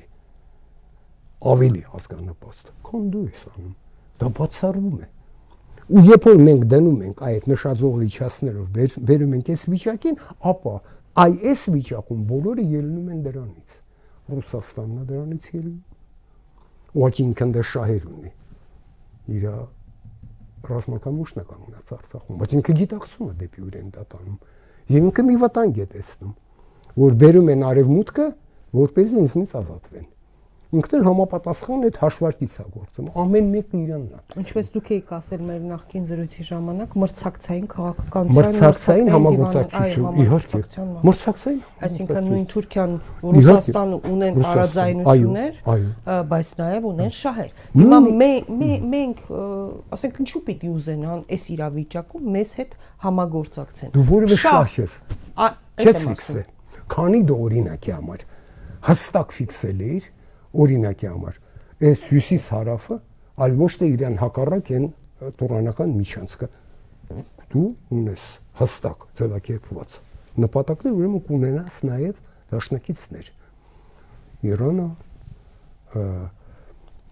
ավելի ազգանապաստ, քան դու ես անում, դա բացառվում է։ Ու երբ որ մենք դնում ենք այդ նշաձողը իջացնելով, բերում ենք այս վիճակին, ապա այս վիճակում բոլորը ելնում են դրանից։ Ռուսաստանն է դրանից ելնում։ Ուղղակի ինքն դա շահեր ունի։ Իր ռազմական ուժն է կանգնած Արցախում, բայց ինքը գիտակցում է դեպի ուր են դա տանում։ Եվ ինքը մի վտանգ է տեսնում, որ բերում են արևմուտքը, որպեսզի ինձնից ազատվեն։ Ինքն էլ համապատասխան այդ հաշվարկից է գործում, ամեն մեկը իրանն է։ Ինչպես դուք եք ասել մեր նախկին զրույցի ժամանակ, մրցակցային մրցակցային քաղաքականության, համագործակցություն, իհարկե, մրցակցային, այսինքն նույն Թուրքիան, Ռուսաստանը ունեն տարաձայնություններ, բայց նաև ունեն շահեր։ Հիմա մենք, ասենք, ինչու պիտի ուզենան այս իրավիճակում մեզ հետ համագործակցեն։ Դու որևէ շահ ես, չես ֆիքսել, քանի դու օրինակի համար հստակ ֆիքսել ես օրինակի համար, այս հյուսիս հարավը, այլ ոչ թե իրան հակառակ են տուրանական միջանցքը, դու ունես հստակ ձևակերպված նպատակներ, ուրեմն կունենաս նաև դաշնակիցներ, Իրանը,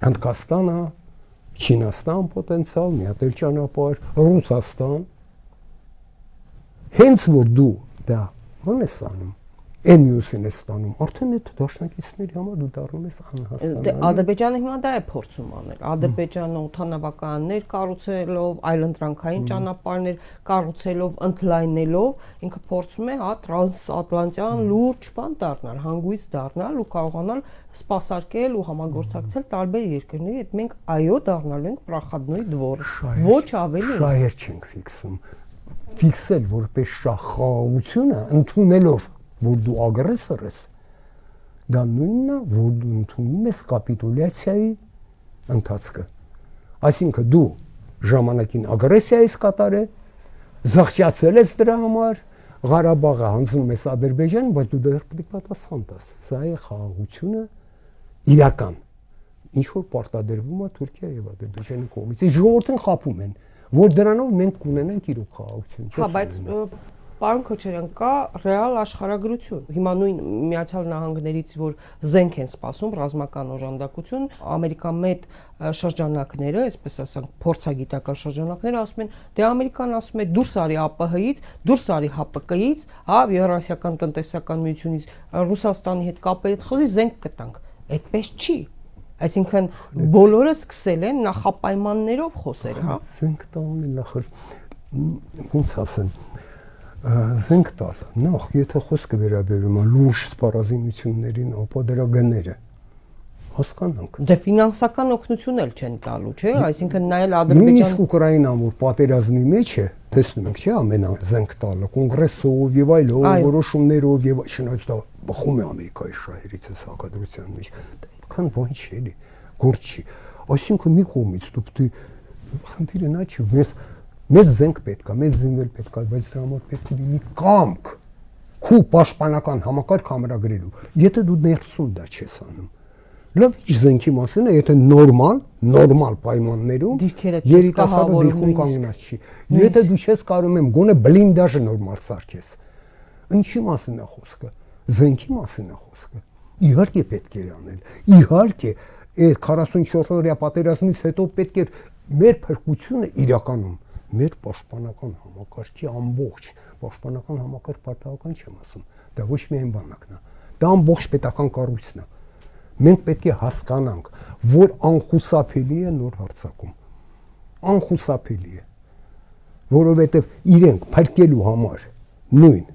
Հնդկաստանը, Չինաստան պոտենցիալ, մի հատ էլ ճանապարհ, Ռուսաստան, հենց որ դու դա ո՞ն ես անում, Այն մյուսին է ստանում, արդեն այդ դաշնակիցների համար դու դառնում ես անհասկանալի։ Ադրբեջանը հիմա դա է փորձում անել։ Ադրբեջանը օդանավականներ կառուցելով, այլընտրանքային ճանապարհներ կառուցելով, ընդլայնելով, ինքը փորձում է տրանսատլանտյան լուրջ բան դառնալ, հանգույց դառնալ ու կարողանալ սպասարկել ու համագործակցել տարբեր երկրների հետ։ Մենք այո դառնալու ենք պրախադնոյ դվոր, ոչ ավելի։ Շահեր չենք ֆիքսում։ Ֆիքսել որպես շահխաղաղությունը ընդունելով որ դու ագրեսոր ես, դա նույնն է, որ դու ընդունում ես կապիտուլյացիայի ընթացքը։ Այսինքն դու ժամանակին ագրեսիա ես կատարել, զղջացել ես դրա համար, Ղարաբաղը հանձնում ես Ադրբեջանին, բայց դու դեռ պետք է պատասխան տաս։ Սա է խաղաղությունը իրական, ինչ որ պարտադրվում է Թուրքիա եւ Ադրբեջանի կողմից։ Այս ժողովուրդն խաբում են, որ դրանով մենք կունենանք իրոք խաղաղություն։ Հա, բայց Պարոն Քոչարյան, կա ռեալ աշխարհագրություն։ Հիմա նույն Միացյալ Նահանգներից, որ զենք են սպասում, ռազմական օժանդակություն, ամերիկամետ շրջանակները, այսպես ասենք, փորձագիտական շրջանակները ասում են, դե Ամերիկան ասում է դուրս արի ԱՊՀ-ից, դուրս արի ՀՊԿ-ից, հա, Եվրասիական տնտեսական միությունից, Ռուսաստանի հետ կապերի հետ խզի զենք կտանք։ Այդպես չի։ Այսինքն բոլորը սկսել են նախապայմաններով խոսել, հա։ Զենք տալն նախ ոնց ասեմ, զենք տալ, նախ եթե խոսքը վերաբերում է լուրջ սպառազինություններին, ապա դրա գները հասկանանք։ Դե ֆինանսական օգնություն էլ չեն տալու, չէ՞, այսինքն նայել Ադրբեջան։ Նույնիսկ Ուկրաինան, որ պատերազմի մեջ է, տեսնում ենք, չէ՞, ամեն զենք տալը, կոնգրեսով եւ այլով, որոշումներով եւ շնորհիվ դա բխում է Ամերիկայի շահերից է հակադրության մեջ։ Դա այդքան բան չի էլի, գործ չի։ Այսինքն մի կողմից դու պետք է խնդիրը նա չի, մեզ զենք պետք է, մեզ զինվել պետք է, բայց դրա համար պետք է լինի կամք քու պաշտպանական համակարգ ամրագրելու։ Եթե դու ներսում դա չես անում, լավ զենքի մասին է, եթե նորմալ պայմաններում երիտասարդը դիքում կանգնած չի։ Եթե դու չես կարում եմ գոնե բլինդաժը նորմալ սարքես, ինչի մասին է խոսքը։ Զենքի մասին է խոսքը։ Իհարկե պետք է անել։ Իհարկե, այդ 44-օրյա պատերազմից հետո պետք է մեր փրկությունը իրականում մեր պաշտպանական համակարգի ամբողջ պաշտպանական համակարգ պարտավորական չեմ ասում։ Դա ոչ միայն բանակն է, դա ամբողջ պետական կառույցն է։ Մենք պետք է հասկանանք, որ անխուսափելի է նոր հարձակում։ Անխուսափելի է, որովհետև իրենք փրկելու համար նույն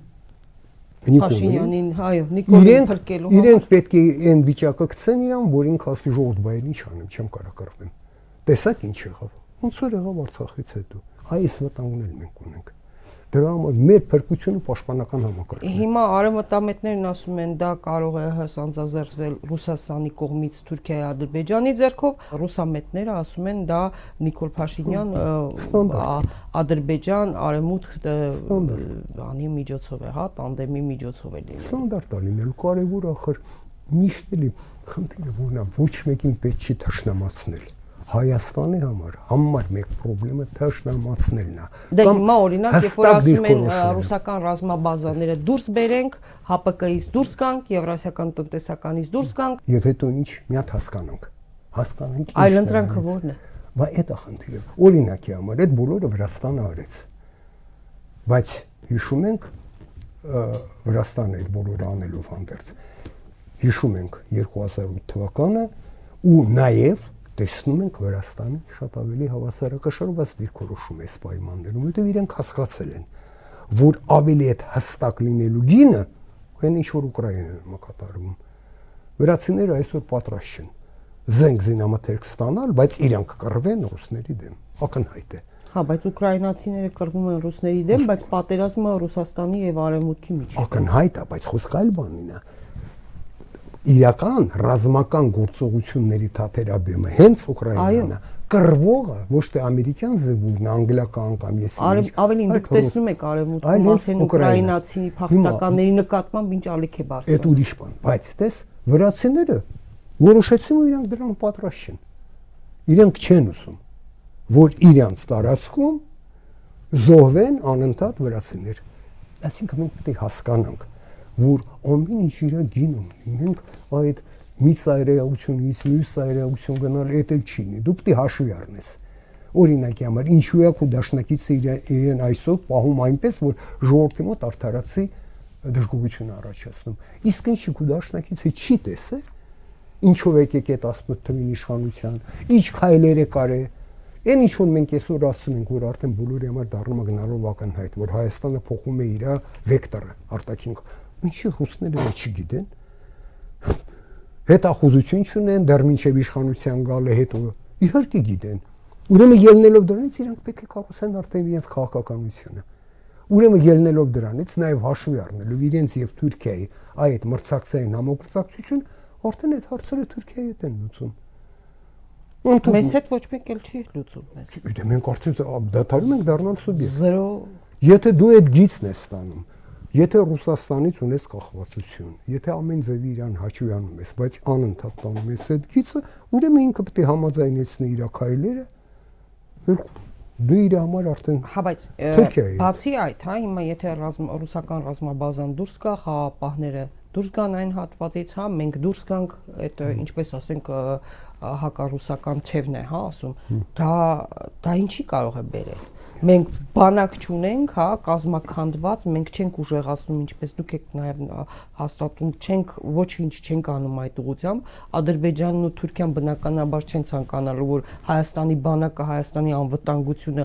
Փաշինյանին, այո, Նիկոլին փրկելու համար իրենք պետք է այն վիճակը գցեն իրան, որ ինքը ասի ժողովուրդ բայր ինչ անեմ, չեմ կարող կռվեմ։ Տեսակ ինչ եղավ։ Ոնց որ եղավ Արցախից հետո։ Այս վտանգն էլ մենք ունենք։ Դրա համար մեր փրկությունը պաշտպանական համակարգն է։ Հիմա արևմտամետներն ասում են, դա կարող է սանձազերծվել Ռուսաստանի կողմից Թուրքիայի, Ադրբեջանի ձեռքով, ռուսամետները ասում են, դա Նիկոլ Փաշինյան Ադրբեջան, Արևմուտք անի միջոցով է, հա, տանդեմի միջոցով է լինել։ Ստանդարտ է լինելու, կարևոր ախր միշտ էլի խնդիրը որն է, ոչ մեկին պետք չի թշնամացնել։ Հայաստանի համար մեկ խնդրեմը թշնամացնելն է։ Դե հիմա օրինակ, երբ որ ասում են ռուսական ռազմաբազաները դուրս բերենք, ՀՊԿ-ից դուրս գանք, Եվրասիական տնտեսականից դուրս գանք, եւ հետո ինչ միատ հասկանանք։ Հասկանանք ինչ։ Այլ ընտրանքը ո՞րն է։ Բա այդ է խնդիրը։ Օրինակի համար այդ բոլորը Վրաստանը արեց։ Բայց հիշում ենք Վրաստանը այդ բոլորը անելով հանդերձ։ Հիշում ենք 2008 թվականը ու նաեւ տեսնում ենք Վրաստանի շատ ավելի հավասարակշռված դիրքորոշում է պայմաններում, որտեղ իրենք հասկացել են, որ ավելի այդ հստակ լինելու գինը այն ինչ որ Ուկրաինայում կատարվում։ Վրացիները այսօր պատրաստ չեն զենք զինամթերք ստանալ, բայց իրանք կռվեն ռուսների դեմ։ Ակնհայտ է։ Հա, բայց ուկրաինացիները կռվում են ռուսների դեմ, բայց պատերազմը Ռուսաստանի եւ Արևմուտքի միջեւ։ Ակնհայտ է, բայց խոսքը այլ բանին է։ Իրական ռազմական գործողությունների թաթերաբեմը հենց Ուկրաինան է։ Կռվողը ոչ թե ամերիկյան զինվորն, անգլիական կամ եսի։ Ավելին դուք տեսնում եք Արևմուտքում ասեն ուկրաինացի փախստականների նկատմամբ ինչ ալիք է բարձրանում։ Այդ ուրիշ բան, բայց տես վրացիները որոշեցին, որ իրանք դրան պատրաստ չեն։ Իրենք չեն ուզում, որ իրանց տարածքում զոհվեն անընդհատ վրացիներ։ Այսինքն մենք պետք է հասկանանք, որ ամեն ինչ իր գինում ունի։ Մենք այդ մի ծայրահեղությունից մյուս ծայրահեղություն գնալ էդ էլ չի լինի։ Դու պետք է հաշվի առնես։ Օրինակի համար ինչու է քո դաշնակիցը իրեն այսօր պահում այնպես, որ ժողովրդի մոտ արդարացի դժգոհություն առաջացնում։ Իսկ ինչի քո դաշնակիցը չի տեսել, ինչով եկեք այդ 18 թվին իշխանության, ինչ քայլեր է կարել։ Այն ինչ որ մենք այսօր ասում ենք, որ արդեն բոլորի համար դառնում է գնալով ակնհայտ, որ Հայաստանը փոխում է իր վեկտորը, արտաքին։ Ինչի ռուսները չգիտեն։ Հետախուզություն չունեն, դեռ մինչև իշխանության գալը հետո իհարկե գիտեն։ Ուրեմն ելնելով դրանից իրանք պետք է կառուցեն արդեն իրենց քաղաքականությունը։ Ուրեմն ելնելով դրանից նաև հաշվի առնելով իրենց եւ Թուրքիայի այդ մրցակցային համագործակցություն, արդեն այդ հարցերը Թուրքիայի հետ են լուծում։ Մեզ հետ ոչ մեկ էլ չի լուծում մեզ։ Դե մենք արդեն դադարում ենք դառնալ սուբյեկտ։ Զրո։ Եթե դու այդ գիծն ես ստանում, եթե Ռուսաստանից ունես կախվածություն, եթե ամեն ձևի իրան հաճույք անում ես, բայց անընդհատ տանում ես այդ գիծը, ուրեմն ինքը պետք է համաձայնեցնի իր քայլերը, դու իր համար արդեն։ Հա, բայց բացի այդ, հա, հիմա եթե ռուսական ռազմաբազան դուրս գա, խաղապահները դուրս գան այն հատվածից, հա, մենք դուրս գանք, այդ ինչպես ասենք հակառուսական թևն է, հա, ասում, դա ինչի կարող է բերել։ Մենք բանակ չունենք, հա, կազմակերպված, մենք չենք ուժեղացնում, ինչպես դուք եք նաև հաստատում, չենք ոչ ինչ չենք անում այդ ուղղությամբ։ Ադրբեջանն ու Թուրքիան բնականաբար չեն ցանկանալու, որ Հայաստանի բանակը, Հայաստանի անվտանգությունը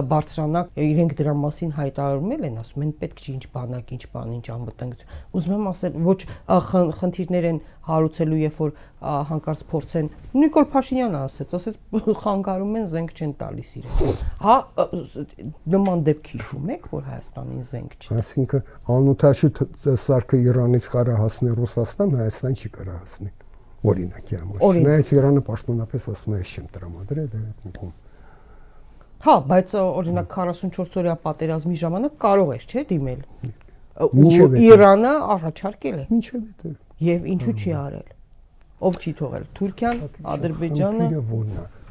բարձրանա, իրենք դրա մասին հայտարարել են, ասում են պետք չի ինչ բանակ, ինչ բան, ինչ անվտանգություն։ Ուզում եմ ասել, ոչ խնդիրներ են հարուցելու, երբ որ հանկարծ փորձեն Նիկոլ Փաշինյանը ասեց խանգարում են, զենք չեն տալիս իրեն։ Հա, նման դեպք հիշում եք, որ Հայաստանին զենք չտա։ Այսինքն անօթաշուտ սարքը Իրանից կարա հասնի Ռուսաստան, Հայաստան չի կարա հասնի։ Օրինակի համար։ Չնայած Իրանը պաշտոնապես ասում է, ես չեմ տրամադրել, դա մեկում։ Հա, բայց օրինակ 44 օրյա պատերազմի ժամանակ կարող էր, չէ՞, դիմել։ Ու Իրանը առաջարկել է։ Ինչև է։ Եվ ինչու չի արել։ Ով չի թողել։ Թուրքիան, Ադրբեջանը։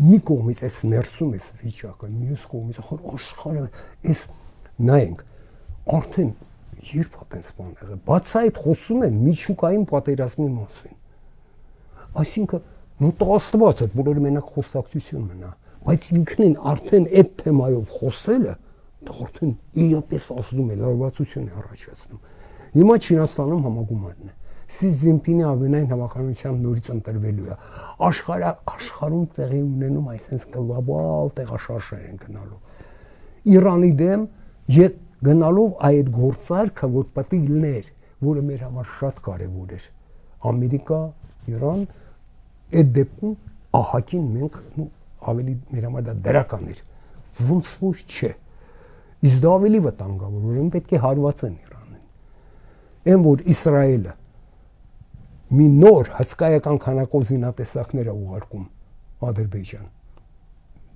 Մի կողմից էս ներսում էս վիճակը, մյուս կողմից աշխարհը էս նայենք, արդեն երբ է տենց բան եղել, բաց այդ խոսում են միջուկային պատերազմի մասին։ Այսինքն, նո տղաստված է, բոլորը մենակ խոսակցություն մնա, բայց ինքնին արդեն այդ թեմայով խոսելը, դա արդեն իրապես ազդում է, լարվածություն է առաջացնում։ Հիմա Չինաստանում համագումարն է։ Սի Զինպինի ավենային հավաքականությամբ նորից ընտրվելու է։ Աշխարհում տեղի ունենում այսպես գլոբալ տեղաշարժեր են գնալու։ Իրանի դեմ գնալով այդ գործարքը, որ պետք է լիներ, որը մեր համար շատ կարևոր էր։ Ամերիկա, Իրան, այդ դեպքում ահագին մենք ավելի մեր համար դա դրական էր։ Ոնց որ չէ։ Իսկ դա ավելի վտանգավոր, ուրեմն պետք է հարվածեն Իրանին։ Այն որ Իսրայելը մի նոր հսկայական քանակով զինատեսակներ է ուղարկում Ադրբեջան,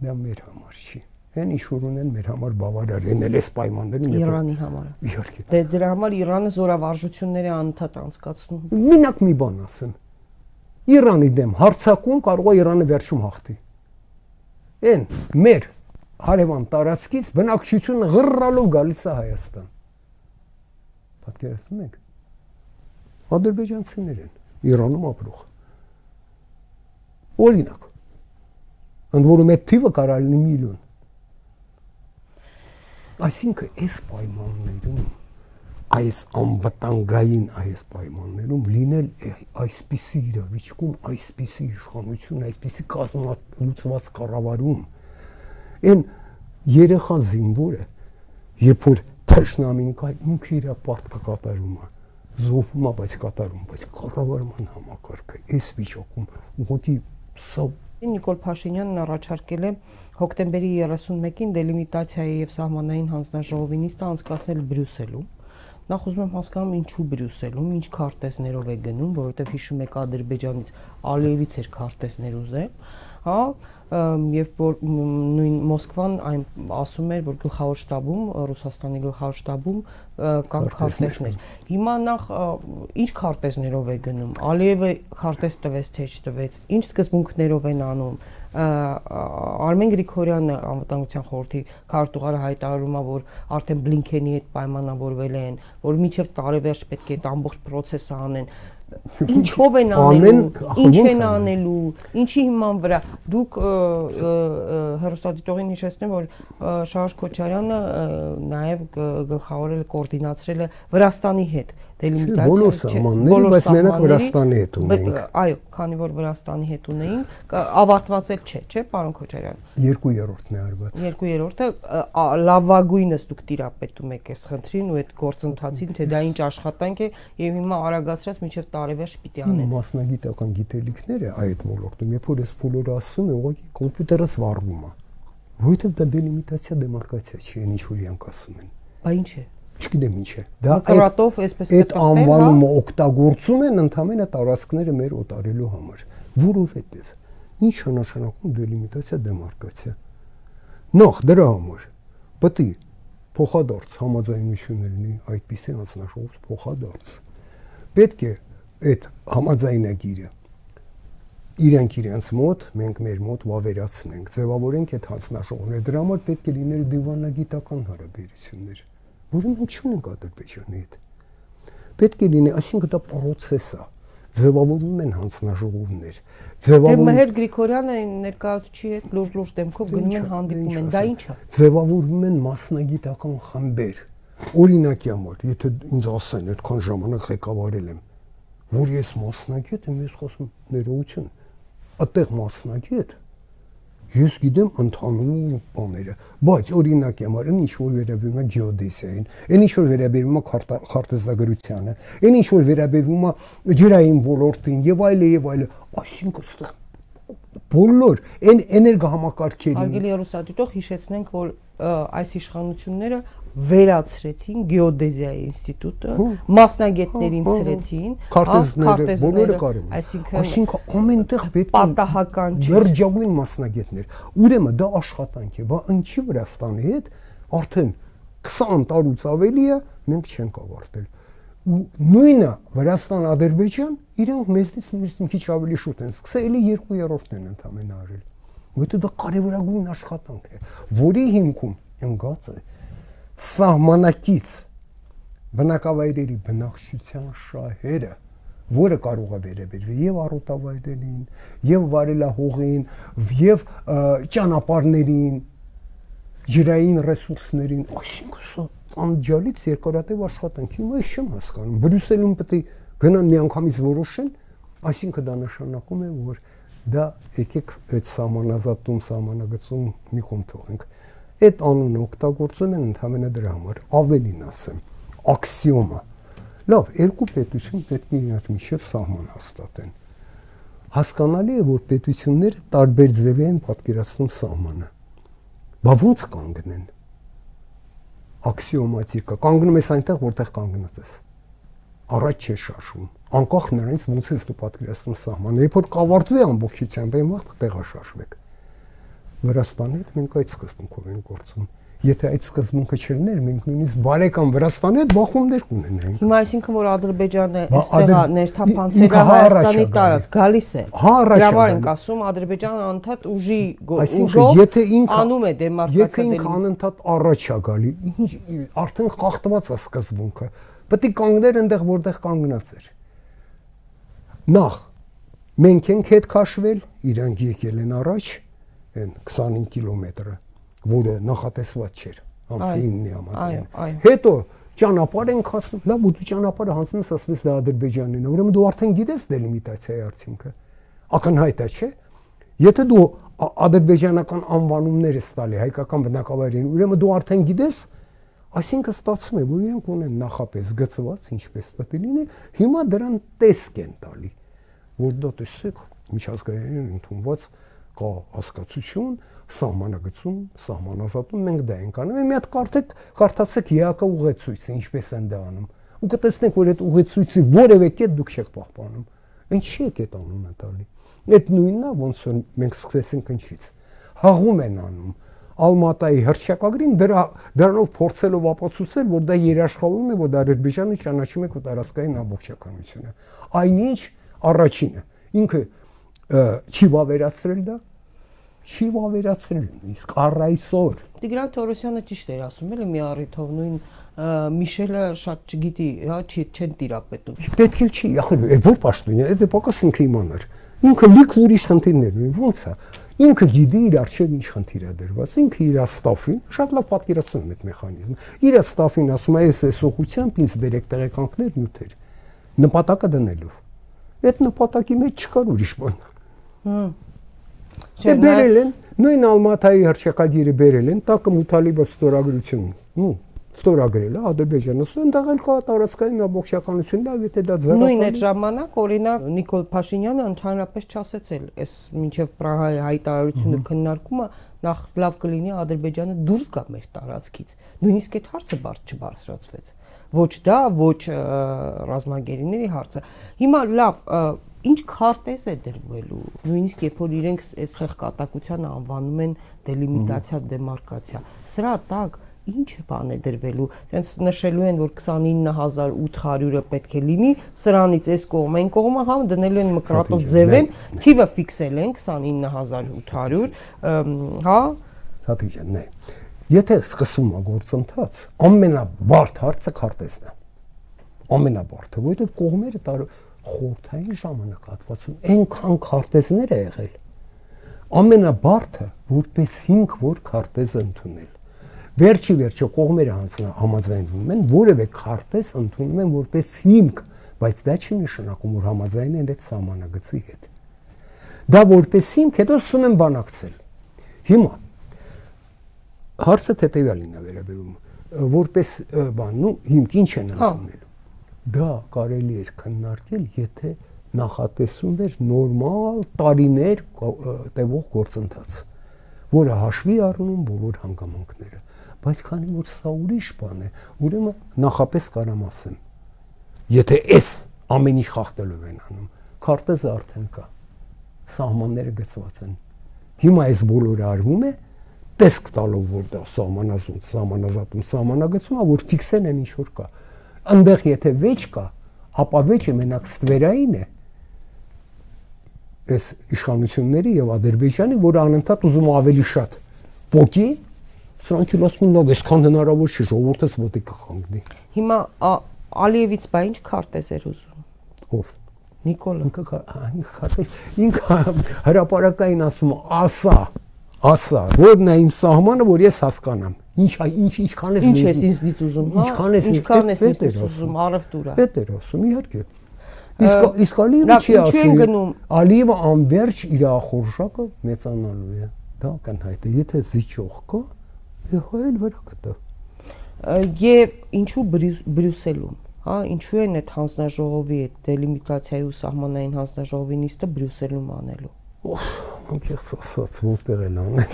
դա մեր համար չի։ Այն ինչ որ ունեն մեր համար բավարար են էս պայմաններում Իրանի համար։ Իհարկե։ Դե դրա համար Իրանը զորավարժությունները անընդհատ անցկացնում։ Մենակ մի բան ասեմ։ Իրանի դեմ հարձակում կարող է Իրանը վերջում հաղթի։ Այն մեր հարևան տարածքից բնակչությունը ղռռալով գալիս է Հայաստան։ Պատկերացնում եք։ Ադրբեջանցիներ են Իրանում ապրող։ Օրինակ, ընդ որում այդ թիվը կարող լինի միլիոն։ Այսինքն այս պայմաններում, այս անվտանգային այս պայմաններում լինել այսպիսի իրավիճակում, այսպիսի իշխանություն, այսպիսի կազմակերպված կառավարում, այն երեխա զինվորը, երբ որ թշնամին կա, ինքը իր պարտքը կատարում է։ Զոհվում է, բայց կատարում, բայց կառավարման համակարգը այս վիճակում ուղղակի սա Նիկոլ Փաշինյանն առաջարկել է հոկտեմբերի 31-ին դելիմիտացիայի եւ սահմանային հանձնաժողովի նիստը անցկացնել Բրյուսելում։ Նախ ուզում եմ հասկանամ ինչու Բրյուսելում, ինչ քարտեզներով է գնում, որովհետեւ հիշում եք Ադրբեջանից Ալիևից էր քարտեզներ ուզել, հա, երբ որ նույն Մոսկվան այն ասում էր, որ գլխավոր շտաբում, Ռուսաստանի գլխավոր շտաբում կան քարտեզներ։ Հիմա նախ ինչ քարտեզներով է գնում։ Ալիևը քարտեզ տվեց, թե չտվեց, ինչ սկզբունքներով են անում։ Արմեն Գրիգորյանը անվտանգության խորհրդի քարտուղարը հայտարարում է, որ արդեն Բլինքենի հետ պայմանավորվել են, որ մինչև տարեվերջ պետք է այդ ամբողջ process-ը անեն։ Ինչով են անելու, ինչ են անելու, ինչի հիման վրա։ Դուք հեռուստադիտողին հիշեցնեմ, որ Շարժ Քոչարյանը նաև գլխավորել է, կոորդինացրել է Վրաստանի հետ դելիմիտացիա։ Բոլոր սահմանները, բայց մենակ Վրաստանի հետ ունեինք։ Այո, քանի որ Վրաստանի հետ ունեին, ավարտված էլ չէ, պարոն Քոչարյան։ 2/3-ն է արված։ 2/3-ը լավագույնս դուք տիրապետում եք այս խնդրին ու այդ գործընթացին, թե դա ինչ աշխատանք է եւ հիմա արագացրած մինչեւ տարեվերջ պիտի անեն։ Մասնագիտական գիտելիքները այդ ոլորտում, երբ որ ես բոլորը ասում եմ, ուղղակի կոմպյուտերս վառվում է։ Որովհետեւ դա դելիմիտացիա, դեմարկացիա չի, այն ինչ որ իրանք ասում են։ Բա ինչ է։ Չգիտեմ ինչ է։ Դա կրատով այսպես այդ անվանումը օգտագործում են ընդհանրապես տարածքները մեր օտարելու համար, որովհետեւ ինչ է նշանակում դելիմիտացիա, դեմարկացիա։ Նախ դրա համար պետք է փոխադարձ համաձայնություններ լինի, այդպիսի անձնաշահող փոխադարձ։ Պետք է այդ համաձայնագիրը իրենց մոտ, մենք մեր մոտ վավերացնենք, ձևավորենք այդ հանձնաշահողները։ Դրա համար պետք է լիներ դիվանագիտական հարաբերություններ, որը մենք չունենք Ադրբեջանի հետ։ Պետք է լինի, այսինքն դա process է։ ձևավորում են հանձնաժողովներ, Մհեր Գրիգորյանը ներկայացուցիչի հետ լուրջ դեմքով գնում են հանդիպում են, դա ի՞նչ է։ Ձևավորում են մասնագիտական խմբեր։ Օրինակի համար, եթե ինձ ասեն, այդքան ժամանակ ղեկավարել եմ, որ ես մասնագետ եմ, ես խոսում ներողություն, այդտեղ մասնագետ, ես գիտեմ ընդհանուր բաները, բայց օրինակի համար ինչ որ վերաբերում է գեոդեզիային, ինչ որ վերաբերում է քարտեզագրությանը, ինչ որ վերաբերում է ջրային ոլորտին եւ այլը, այսինքն այստեղ բոլոր այն էներգոհամակարգերին Արգելի հեռուստադիտող հիշեցնենք, որ այս իշխանությունները վերացրեցին գեոդեզիայի ինստիտուտը, մասնագետներին ցրեցին, քարտեզները բոլորը կարևոր։ Այսինքն ամենտեղ պետք է պատահական չէ։ Լրջագույն մասնագետներ։ Ուրեմն դա աշխատանք է, բա ինչի Վրաստանի հետ արդեն 20 տարուց ավելի է մենք չենք ավարտել։ Ու նույնը Վրաստան-Ադրբեջան իրենք մեզնից մի քիչ ավելի շուտ են սկսել, էլի 2/3-ն են ընդամենը արել։ Որտեղ դա կարևորագույն աշխատանք է, որի հիմքում ընկած է սահմանակից բնակավայրերի բնակչության շահերը, որը կարող է վերաբերվել եւ առօտավայրերին, եւ վարելահողին, եւ ճանապարհներին, ջրային ռեսուրսներին, այսինքն սա անջալից երկարատև աշխատանք։ Հիմա ես չեմ հասկանում։ Բրյուսելում պետք է գնան միանգամից որոշեն, այսինքն դա նշանակում է, որ դա եկեք այդ սահմանագծում մի կողմ թողենք։ Այդ անունը օգտագործում են ընդհանրապես դրա համար, ավելին ասեմ, աքսիոմա։ Լավ, երկու պետություն պետք է իրար միջև սահման հաստատեն։ Հասկանալի է, որ պետությունները տարբեր ձևի են պատկերացնում սահմանը։ Բա ո՞նց կանգնեն։ Աքսիոմատիկա, կանգնում ես այնտեղ, որտեղ կանգնած ես։ Առաջ չէ շարժվում։ Անկախ նրանից ոնց ես դու պատկերացնում սահմանը, երբ որ կավարտվի ամբողջությամբ, այն վաղ տեղաշարժվեք։ Վրաստանի հետ մենք այդ սկզբունքով ենք գործում։ Եթե այդ սկզբունքը չլիներ, մենք նույնիսկ բարեկամ Վրաստանի հետ բախումներ կունենայինք։ Հիմա այսինքն որ Ադրբեջանը այստեղ ներթափանցել է Հայաստանի տարած, գալիս է։ Հրավար ենք ասում, Ադրբեջանը անընդհատ ուժով անում է դեմարկացիա։ Եթե ինքը անընդհատ առաջ է գալի, արդեն խախտված է սկզբունքը։ Պետք է կանգներ այնտեղ, որտեղ կանգնած էր։ Նախ մենք ենք հետ քաշվել, իրանք եկել են առաջ, այն 25 կիլոմետրը, որը նախատեսված չէր, ամսի 9-ի համաձայն։ Հետո ճանապարհ ենք հասնում, լավ, ու դու ճանապարհը հանձնում ես, ասես դա Ադրբեջանն է, ուրեմն դու արդեն գիտես դելիմիտացիայի արդյունքը։ Ակնհայտ է, չէ՞։ Եթե դու ադրբեջանական անվանումներ ես տալի հայկական բնակավայրերին, ուրեմն դու արդեն գիտես, այսինքն ստացվում է, որ իրենք ունեն նախապես գծված, ինչպես պետք է լինի, հիմա դրան տեսք են տալի, որ դա տեսեք, միջազգային ընդունված կա հասկացություն, սահմանագծում, սահմանազատում մենք դա ենք անում։ Մի հատ կարդացեք ԵԱԿ ուղեցույցը, ինչպես են դա անում։ Ու կտեսնեք, որ այդ ուղեցույցի որևէ կետ դուք չեք պահպանում։ Ինչի եք այդ անունը տալի։ Այդ նույնն է, ոնց որ մենք սկսեցինք ինչից։ Հաղում են անում։ Ալմատայի հռչակագրին դրանով փորձելով ապացուցել, որ դա երաշխավորում է, որ Ադրբեջանը ճանաչում է քո տարածքային ամբողջականությունը։ Այնինչ առաջինը ինքը չի վավերացրել դա, չի վավերացրել, իսկ առ այսօր Տիգրան Թորոսյանը ճիշտ էր ասում, էլի մի առիթով նույն Միշելը շատ չգիտի, հա, չեն տիրապետում։ Պետք էլ չի, որ պաշտոնյա է, դե պակաս ինքը իմանար։ Ինքը լիք ուրիշ խնդիրներ ունի, ո՞նց է։ Ինքը գիտի իր արժեք ինչ խնդիր է դրված, ինքը իր ստաֆին, շատ լավ պատկերացնում է այդ մեխանիզմը։ Իր ստաֆին ասում է, այս ուղղությամբ ինձ բերեք տեղեկանքներ, նյութեր, նպատակը դնելով։ Այդ նպատակի մեջ չկար ուրիշ բան։ Դե բերել են, նույն Ալմատայի հռչակագիրը բերել են, տակը Մութալիբով ստորագրություն, ստորագրել է Ադրբեջանը, այնտեղ էլ կա տարածքային ամբողջականություն, լավ, եթե դա ձեռնարկել։ Նույն այդ ժամանակ օրինակ Նիկոլ Փաշինյանը ընդհանրապես չասեցել, այս մինչև Պրահայի հայտարարությունը քննարկումը նախ լավ կլինի Ադրբեջանը դուրս գա մեր տարածքից։ Նույնիսկ այդ հարցը չբարձրացվեց։ Ոչ դա, ոչ ռազմագերիների հարցը։ Հիմա լավ, ինչ քարտեզ է դրվելու, նույնիսկ երբ որ իրենք այս խեղկատակությանը անվանում են դելիմիտացիա, դեմարկացիա, սրա տակ ինչ բան է դրվելու, ասենց նշելու են, որ 29800-ը պետք է լինի, սրանից այս կողմը, այն կողմը, հա, դնելու են մկրատով ձևեն, թիվը ֆիքսել են 29800, հա։ Հատիճան, նե։ Եթե սկսում է գործընթաց, ամենաբարդ հարցը քարտեզն է։ Ամենաբարդը, որովհետև կողմերը խորհրդային ժամանակահատվածում այնքան քարտեզներ է եղել։ Ամենաբարդը որպես հիմք որ քարտեզը ընդունել։ Վերջի կողմերը համաձայնվում են, որևէ քարտեզ ընդունում են որպես հիմք, բայց դա չի նշանակում, որ համաձայն են այդ սահմանագծի հետ։ Դա որպես հիմք, հետո սկսում են բանակցել։ Հիմա հարցը հետևյալին է վերաբերում, որպես բան, հիմք ինչ են ընդունելու։ Դա կարելի է քննարկել, եթե նախատեսում էր նորմալ տարիներ տևող գործընթաց, որը հաշվի առնում բոլոր հանգամանքները, բայց քանի որ սա ուրիշ բան է, ուրեմն նախապես կարամ ասեմ, եթե այս ամեն ինչ խախտելով են անում, քարտեզը արդեն կա, սահմանները գծված են, հիմա այս բոլորը արվում է, տեսք տալով որ դա սահմանազատում, սահմանագծում է, որ ֆիքսել են ինչ որ կա, այնտեղ եթե վեճ կա, ապա վեճը մենակ ստվերային է, այս իշխանությունների եւ Ադրբեջանի, որը անընդհատ ուզում ավելի շատ փոկի, սրանք ասում են, այսքան հնարավոր չի, ժողովուրդս ոտի կխանգնի։ Հիմա Ալիևից բա ինչ քարտեզ էր ուզում։ Ով։ Նիկոլը։ Ինքը հրապարակային ասում ասա, որն է իմ սահմանը, որ ես հասկանամ։ Ինչքան ես ինձնից ուզում, հա։ Ինչքան ես ինձ ուզում, առևտուրա։ Դա էր ասում, իհարկե։ Իսկ Ալիևը չի ասում, Ալիևը անverջ իր ախորժակը մեծանալու է։ Դա կանհայտ է, եթե զիջող կա, հայել վրա կտա։ Եվ ինչու Բրյուսելում, հա, ինչու են այդ հանձնաժողովի այդ դելիմիտացիայի ու սահմանային հանձնաժողովի նիստը Բրյուսելում անելու։ Անկեղծ ասած, որտեղ են անել։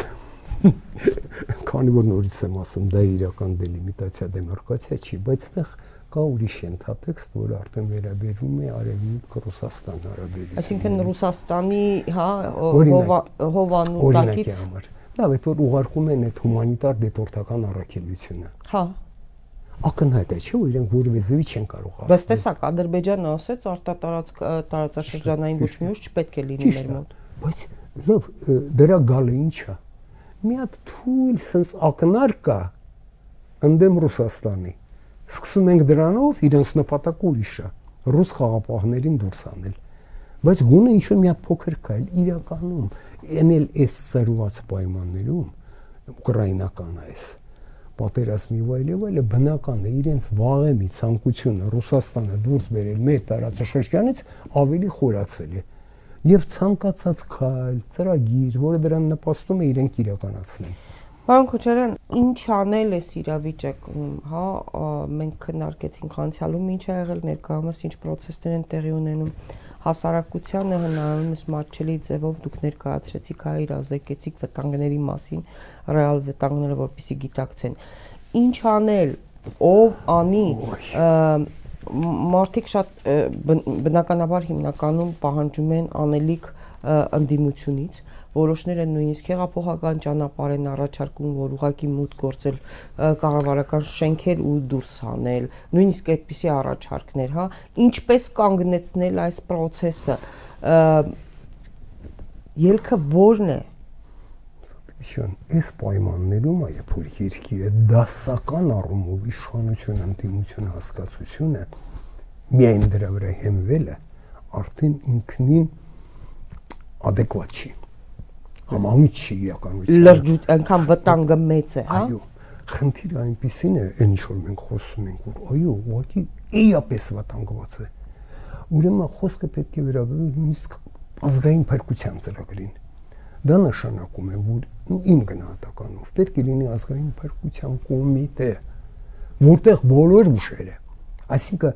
Քանի որ նորից եմ ասում, դա իրական դելիմիտացիա, դեմարկացիա չի, բայց այդտեղ կա ուրիշ ենթատեքստ, որը արդեն վերաբերում է Արևմուտք Ռուսաստան հարաբերություններին։ Այսինքն Ռուսաստանի, հա, հովանու տակից։ Լավ, այդ որ ուղարկում են այդ հումանիտար դեպորտական առաքելությունը։ Հա։ Ակնհայտ է, չէ՞ որ իրենք որևէ զվի չեն կարող ասել։ Բայց տեսակ, Ադրբեջանը ասեց տարածաշրջանային ոչ մի ուժ չպետք է լինի մեր մոտ։ Բայց լավ, դրա գալը ի՞նչ է։ Մի հատ թույլ sense ակնար կա ընդդեմ Ռուսաստանի։ Սկսում ենք դրանով իրենց նպատակը ուրիշ է, ռուս խաղապահներին դուրս անել։ Բայց գոնե ինչ-որ մի հատ փոքր կայլ իրականում ենել այս ծրված պայմաններում ուկրաինական այս պատերազմի վայելը բնական է իրենց վաղեմի ցանկությունը Ռուսաստանը դուրս բերել մեր տարածաշրջանից ավելի խորացել է եւ ցանկացած քայլ, ծրագիր, որը դրան նպաստում է իրենք իրականացնեն։ Պարոն Քոչարյան, ինչ անել էս իրավիճակում, հա, մենք քննարկեցինք անցյալում ինչ ա եղել, ներկայումս ինչ process-ներ են տեղի ունենում, հասարակությանը հնարավորինս մատչելի ձևով դուք ներկայացրեցիք, հա, իրազեկեցիք վտանգների մասին, ռեալ վտանգները, որպեսզի գիտակցեն։ Ինչ անել, ով անի, մարդիկ շատ բնականաբար հիմնականում պահանջում են անելիք ընդդիմությունից, որոշները նույնիսկ հեղափոխական ճանապարհ են առաջարկում, որ ուղղակի մուտք գործել կառավարական շենքեր ու դուրս հանել, նույնիսկ այդպիսի առաջարկներ, հա, ինչպես կանգնեցնել այս process-ը, ելքը ո՞րն է։ Այս պայմաններում է, երբ որ երկիրը դասական առումով իշխանություն, ընդդիմություն հասկացությունը միայն դրա վրա հենվելը արդեն ինքնին adekvat չի։ Համահունչ չի իրականություն։ Լրջույթ, այնքան վտանգը մեծ է, հա։ Այո, խնդիրը այնպեսին է, այն ինչ որ մենք խոսում ենք, որ այո, ուղղակի էապես վտանգված է։ Ուրեմն խոսքը պետք է վերաբերվի նույնիսկ ազգային փրկության ծրագրին։ Դա նշանակում է, որ իմ գնահատականով պետք է լինի ազգային փրկության կոմիտե, որտեղ բոլոր ուժերը, այսինքն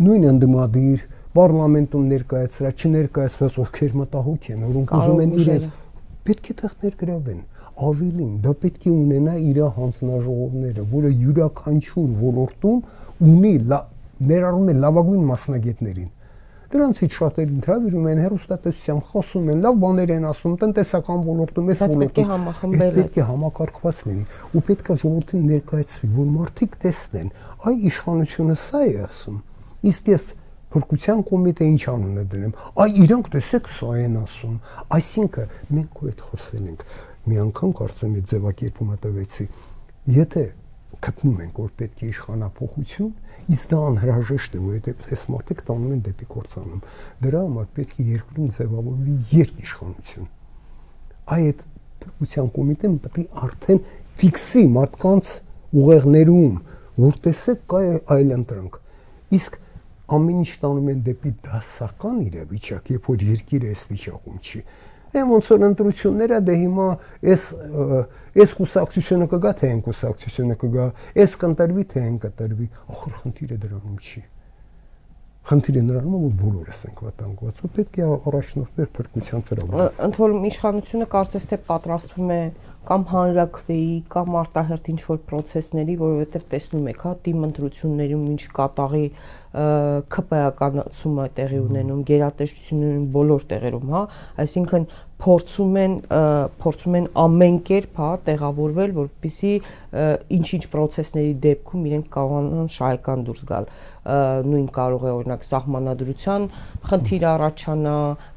նույն ընդդիմադիր պարլամենտում ներկայացրած, չներկայացված ովքեր մտահոգ են, որոնք ուզում են իրենց պետք է տեղ ներգրավեն, ավելին, դա պետք է ունենա իր հանձնաժողովները, որը յուրաքանչյուր ոլորտում ունի ներառում է լավագույն մասնագետներին։ Դրանցից շատերին հրավիրում են հեռուստատեսությամբ, խոսում են, լավ բաներ են ասում, տնտեսական ոլորտում, այս ոլորտում պետք է համակարգված լինի ու պետք է ժողովրդին ներկայացվի, որ մարդիկ տեսնեն, այ իշխանությունը սա է ասում, իսկ ես փրկության կոմիտե ինչ անուն է դրեմ, այ իրանք տեսեք սա են ասում, այսինքն մենք ու այդ խոսել ենք, մի անգամ կարծեմ այդ ձևակերպումը տվեցի, եթե գտնում ենք, որ պետք է իշխանափոխություն, իսկ դա անհրաժեշտ է, որովհետև այս մարդիկ տանում են դեպի կործանում։ Դրա համար պետք է երկրում ձևավորվի երկիշխանություն։ Այդ փոխության կոմիտեն պետք է արդեն ֆիքսի մարդկանց ուղեղներում, որ տեսեք կա այլ ընտրանք։ Իսկ ամեն ինչ տանում են դեպի դասական իրավիճակ, երբ որ երկիրը այս վիճակում չի։ Ոնց որ ընտրությունները դե հիմա այս կուսակցությունը կգա, թե այն կուսակցությունը կգա, այս կընտրվի, թե այն կընտրվի, ախր խնդիրը դրանում չի։ Խնդիրը նրանում է, որ բոլորս ենք վտանգված, ու պետք է առաջնորդներ փրկության ծրագրեր։ Ընդ որում իշխանությունը կարծես թե պատրաստվում է կամ հանրաքվեի կամ արտահերթ ինչ-որ process-ների, որովհետև տեսնում եք, հա, թիմ ընտրություններում ինչ կատաղի ԿՊ-ականացումը տեղի ունենում, գերատեսչություններում բոլոր տեղերում, հա, այսինքն փորձում են ամեն կերպ, հա, տեղավորվել, որպեսզի ինչ-ինչ process-ների դեպքում իրենք կարողանան շահեկան դուրս գալ։ Նույն կարող է օրինակ սահմանադրության խնդիր առաջանա,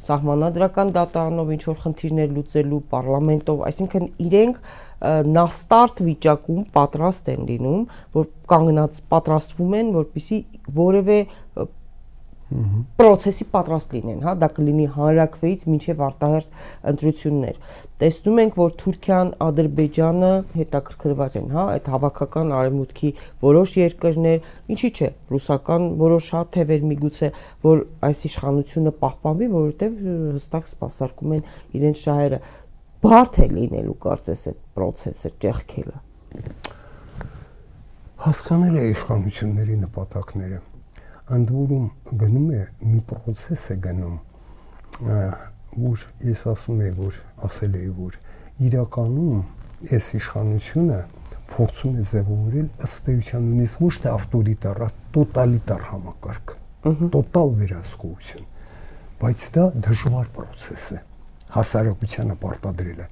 սահմանադրական դատարանով ինչ-որ խնդիրներ լուծելու, պարլամենտով, այսինքն իրենք նաստարտ վիճակում պատրաստ են լինում, որ կանգնած պատրաստվում են, որպեսզի որևէ process-ի պատրաստ լինեն, հա, դա կլինի հանրաքվեից մինչև արտահերթ ընտրություններ։ Տեսնում ենք, որ Թուրքիան, Ադրբեջանը հետաքրքրված են, հա, այդ հավաքական արևմուտքի որոշ երկրներ, ինչի՞ չէ, ռուսական որոշ հա թևեր միգուցե, որ այս իշխանությունը պահպանվի, որովհետև հստակ սպասարկում են իրենց շահերը։ Բարդ է լինելու կարծես այդ process-ը ճեղքելը։ Հասկանել է իշխանությունների նպատակները։ Ընդ որում գնում է մի process է գնում, որ ես ասում եմ, որ ասել էի, որ իրականում այս իշխանությունը փորձում է ձևավորել ըստ էության նույնիսկ ոչ թե ավտորիտար, տոտալիտար համակարգ, տոտալ վերահսկողություն, բայց դա դժվար process է, հասարակությանը պարտադրելը։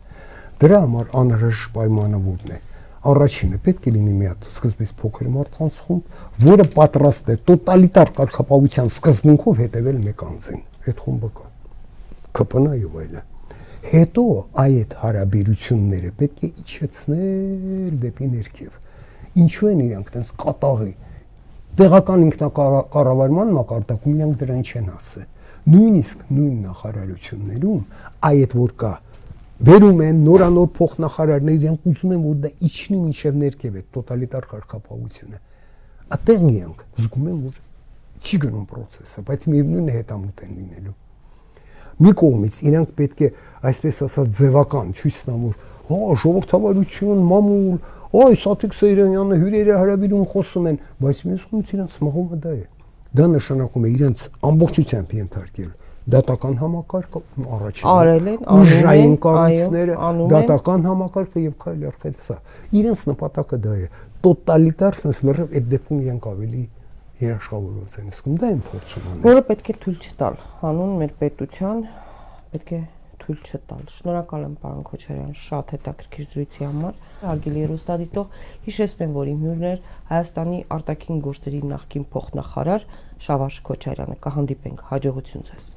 Դրա համար անհրաժեշտ պայմանը որն է։ Առաջինը պետք է լինի մի հատ սկզբից փոքր մարդկանց խումբ, որը պատրաստ է տոտալիտար կարգապահության սկզբունքով հետևել մեկ անձին։ Այդ խումբը կա։ ԿՊՆ-ը եւ այլն։ Հետո այդ հարաբերությունները պետք է իջեցնել դեպի ներքև։ Ինչու են իրանք տենց կատաղի։ Տեղական ինքնակառավարման մակարդակում իրանք դրան չեն ասել։ Նույնիսկ նույն նախարարություններում այդ որ կա վերում են նորանոր փոխնախարարներ, իրենք ուզում են, որ դա իջնի մինչև ներքև է տոտալիտար կարգապահությունը։ Այդտեղ իրանք զգում են, որ չի գնում process-ը, բայց միևնույնն է հետամուտ են լինելու։ Մի կողմից իրանք պետք է, այսպես ասած, ձևական ցույց տան, որ հա ժողովրդավարություն, մամուլ, այ Սաթիկ Սեյրանյանը հյուրերի հրավիրում խոսում են, բայց մյուս կողմից իրանք մղումը դա է։ Դա նշանակում է իրենց ամբողջությամբ ենթարկել դատական համակարգը առաջին ուժային կառույցները, դատական համակարգը եւ քայլ առ քայլ սա։ Իրենց նպատակը դա է։ Տոտալիտար sense լրիվ այդ դեպքում իրենք ավելի երաշխավորված են, իսկ դա են փորձում անել։ Որը պետք է թույլ չտալ, հանուն մեր պետության պետք է թույլ չտալ։ Շնորհակալ եմ պարոն Քոչարյան շատ հետաքրքիր զրույցի համար։ Հարգելի հեռուստադիտող, հիշեցնեմ, որ իմ հյուրն էր Հայաստանի արտաքին գործերի նախկին փոխնախարար Շավարժ Քոչարյանը։ Կհանդիպենք, հաջողություն ձեզ։